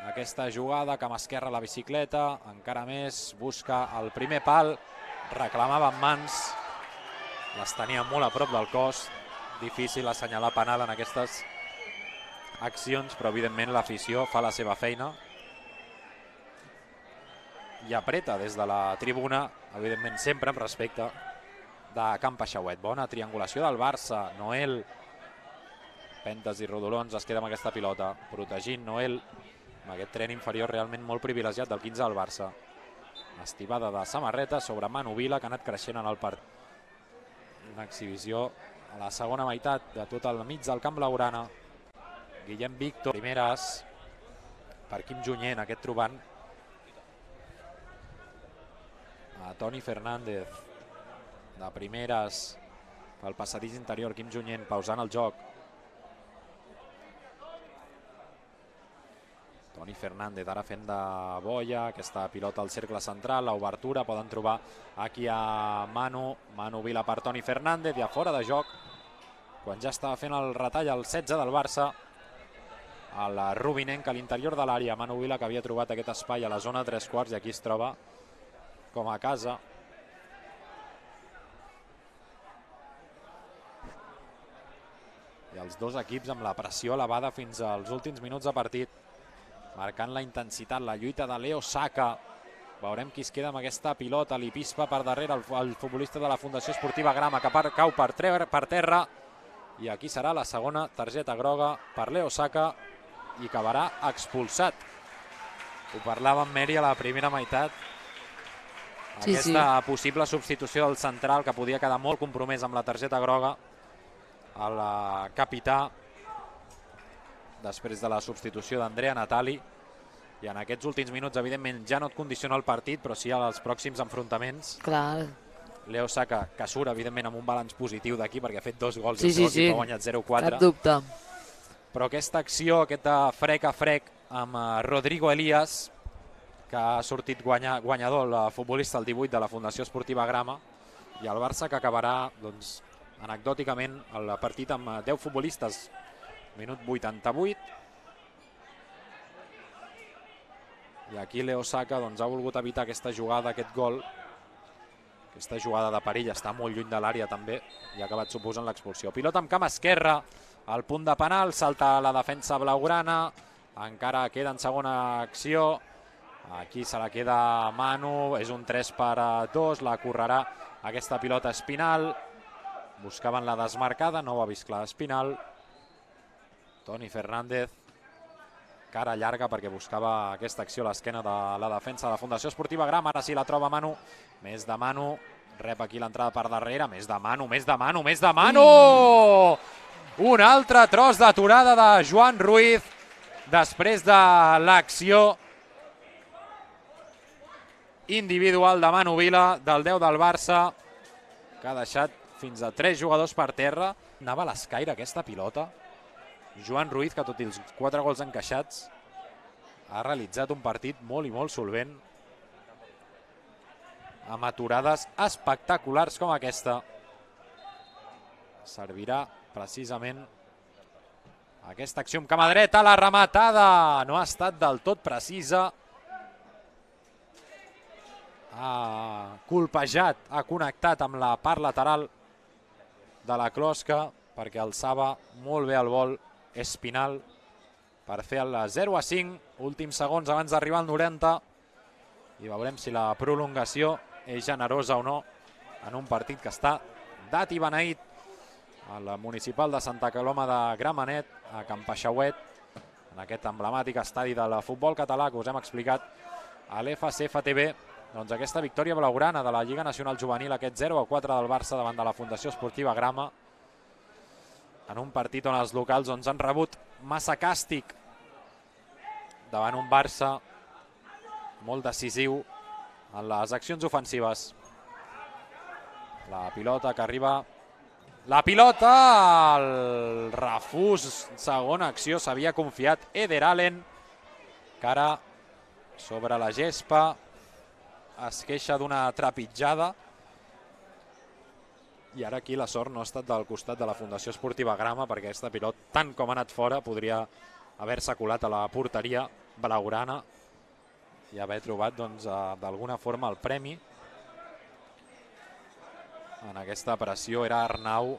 aquesta jugada, cama esquerra, la bicicleta, encara més, busca el primer pal, reclamava amb mans, les tenia molt a prop del cos, difícil assenyalar penal en aquestes accions, però evidentment l'afició fa la seva feina i apreta des de la tribuna, evidentment sempre amb respecte, de Can Paixauet. Bona triangulació del Barça, Noel, Pentes i Rodolons es queda amb aquesta pilota, protegint Noel, amb aquest tren inferior realment molt privilegiat del 15 del Barça. Estivada de samarreta sobre Manu Vila, que ha anat creixent en el partit. Una exhibició a la segona meitat de tot el mig del camp blaugrana. Guillem Víctor, primeres per Quim Junyent, aquest trobant a Toni Fernández. de primeres pel passadís interior, Quim Junyent pausant el joc. Toni Fernández ara fent de boia, aquesta pilota al cercle central, l'obertura, poden trobar aquí a Manu Vila per Toni Fernández i a fora de joc, quan ja estava fent el retall al 16 del Barça, el Rubinenc a l'interior de l'àrea, Manu Vila que havia trobat aquest espai a la zona 3/4 i aquí es troba com a casa. I els dos equips amb la pressió elevada fins als últims minuts de partit, marcant la intensitat, la lluita de Leo Saka. Veurem qui es queda amb aquesta pilota, li pispa per darrere el futbolista de la Fundació Esportiva Grama, que cau per terra, i aquí serà la segona targeta groga per Leo Saka i acabarà expulsat. Ho parlava amb Meri a la primera meitat, aquesta possible substitució del central que podia quedar molt compromès amb la targeta groga, el capità, després de la substitució d'Andrea Natali, i en aquests últims minuts evidentment ja no et condiciona el partit, però sí als pròxims enfrontaments. Clar. Leo Saka, que surt evidentment amb un balanç positiu d'aquí perquè ha fet 2 gols i el seu equip ha guanyat 0-4. Cap dubte. Però aquesta acció, aquest frec a frec amb Rodrigo Elías, que ha sortit guanyador, el futbolista el 18 de la Fundació Esportiva Grama, i el Barça que acabarà, doncs, anecdòticament el partit amb 10 futbolistes. Minut 88. I aquí Leo Saka doncs, ha volgut evitar aquesta jugada, aquest gol. Aquesta jugada de perill, està molt lluny de l'àrea també i ha acabat suposant l'expulsió. Pilota amb camp esquerra, al punt de penal, salta la defensa blaugrana, encara queda en segona acció. Aquí se la queda Manu, és un 3-2, la correrà aquesta pilota Espinal. Buscaven la desmarcada, no ho ha vist clar Espinal. Toni Fernández, cara llarga perquè buscava aquesta acció a l'esquena de la defensa de la Fundació Esportiva Grama. Ara sí la troba Manu, més de Manu, rep aquí l'entrada per darrere, més de Manu! Un altre tros d'aturada de Joan Ruiz després de l'acció individual de Manu Vila, del 10 del Barça, que ha deixat fins a 3 jugadors per terra. Anava a l'escaire aquesta pilota. Joan Ruiz, que tot i els 4 gols encaixats, ha realitzat un partit molt i molt solvent, amb aturades espectaculars com aquesta. Servirà precisament aquesta acció amb cama dreta, la rematada no ha estat del tot precisa. Ha colpejat, ha connectat amb la part lateral de la closca perquè alçava molt bé el vol Espinal per fer el 0-5, últims segons abans d'arribar al 90, i veurem si la prolongació és generosa o no en un partit que està dat i beneït al municipal de Santa Coloma de Gramenet, a Can Paixauet, en aquest emblemàtic estadi del futbol català que us hem explicat a l'FCFTV. Doncs aquesta victòria blaugrana de la Lliga Nacional Juvenil, aquest 0-4 del Barça davant de la Fundació Esportiva Grama, en un partit on els locals han rebut massa càstig davant un Barça molt decisiu en les accions ofensives. La pilota que arriba... La pilota, el refús, segona acció, s'havia confiat Eder Allen, que ara sobre la gespa es queixa d'una trepitjada, i ara aquí la sort no ha estat del costat de la Fundació Esportiva Grama, perquè aquesta pilota, tant com ha anat fora, podria haver-se colat a la porteria blaugrana i haver trobat d'alguna forma el premi. En aquesta pressió era Arnau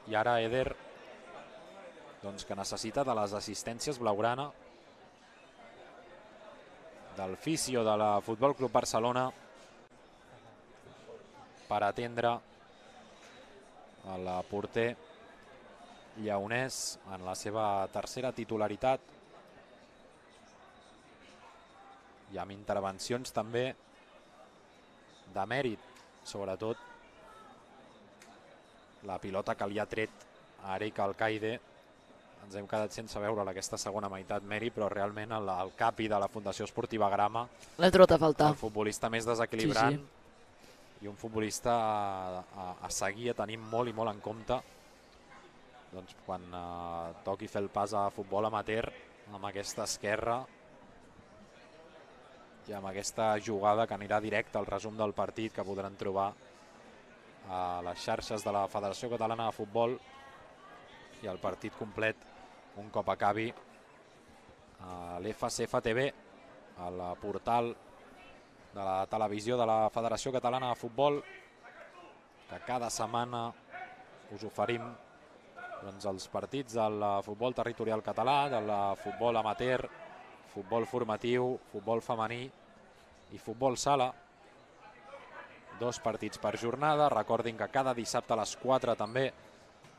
i ara Eder, que necessita de les assistències blaugrana, del fisio de la Futbol Club Barcelona, per atendre el porter lleonès en la seva tercera titularitat i amb intervencions també de mèrit, sobretot la pilota que li ha tret a Eric Alcaide. Ens hem quedat sense veure aquesta segona meitat, Meri, però realment el capi de la Fundació Esportiva Grama, l'he trobat a faltar. el futbolista més desequilibrant, i un futbolista a seguir, a tenir molt i molt en compte quan toqui fer el pas a futbol amateur, amb aquesta esquerra i amb aquesta jugada que anirà directe al resum del partit, que podran trobar a les xarxes de la Federació Catalana de Futbol, i el partit complet un cop acabi a l'FCF TV, al portal de la televisió de la Federació Catalana de Futbol, que cada setmana us oferim els partits del futbol territorial català, del futbol amateur, futbol formatiu, futbol femení i futbol sala. 2 partits per jornada. Recordin que cada dissabte a les 4 també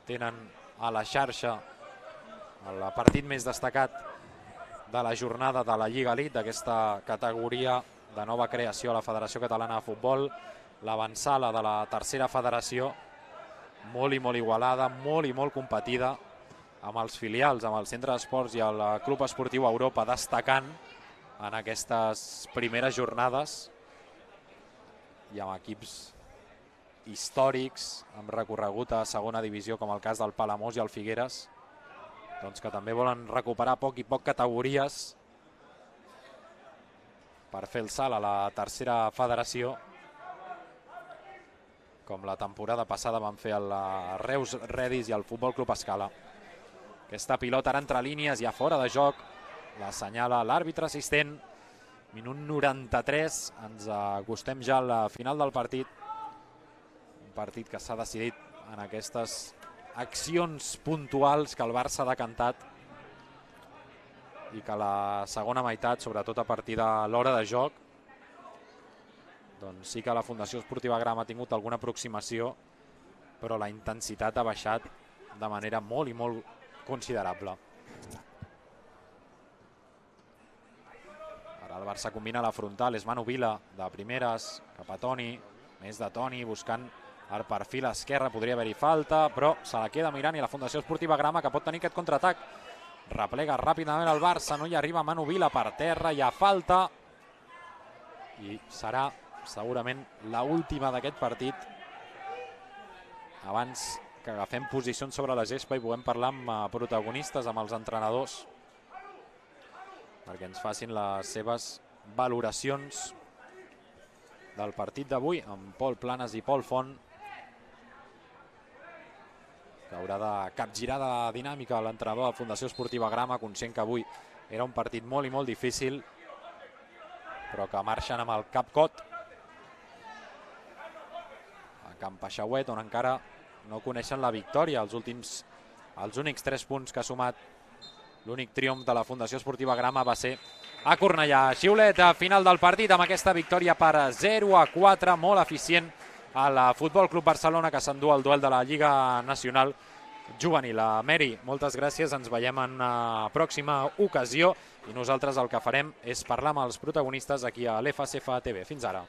tenen a la xarxa el partit més destacat de la jornada de la Lliga Elite, d'aquesta categoria de nova creació a la Federació Catalana de Futbol, l'avançala de la tercera federació, molt i molt igualada, molt i molt competida, amb els filials, amb el Centre d'Esports i el Club Esportiu Europa destacant en aquestes primeres jornades, i amb equips històrics, amb recorregut a segona divisió, com el cas del Palamós i el Figueres, que també volen recuperar a poc i poc categories per fer el salt a la tercera federació, com la temporada passada van fer el Reus Redis i el Futbol Club Escala. Aquesta pilota ara entre línies, ja fora de joc, l'assenyala l'àrbitre assistent. Minut 93, ens acostem ja a la final del partit. Un partit que s'ha decidit en aquestes accions puntuals que el Barça ha decantat, i que a la segona meitat, sobretot a partir de l'hora de joc, doncs sí que la Fundació Esportiva Gram ha tingut alguna aproximació, però la intensitat ha baixat de manera molt i molt considerable. Ara el Barça combina la frontal, és Manu Vila de primeres, cap a Toni, més de Toni, buscant el perfil esquerre, podria haver-hi falta, però se la queda mirant, i la Fundació Esportiva Grama, que pot tenir aquest contraatac, replega ràpidament el Barça, no hi arriba Manu Vila, per terra, hi ha falta, i serà segurament l'última d'aquest partit, abans que agafem posicions sobre la gespa i puguem parlar amb protagonistes, amb els entrenadors, perquè ens facin les seves valoracions del partit d'avui, amb Pol Planes i Pol Font, que haurà de capgirar de dinàmica l'entrenador de la Fundació Esportiva Grama, conscient que avui era un partit molt i molt difícil, però que marxen amb el cap cot a Can Peixauet, on encara no coneixen la victòria. Els únics 3 punts que ha sumat l'únic triomf de la Fundació Esportiva Grama va ser a Cornellà. Xiulet a final del partit amb aquesta victòria per 0-4, molt eficient al Futbol Club Barcelona, que s'endú el duel de la Lliga Nacional Juvenil. Meri, moltes gràcies, ens veiem en una pròxima ocasió, i nosaltres el que farem és parlar amb els protagonistes aquí a l'FCF TV. Fins ara.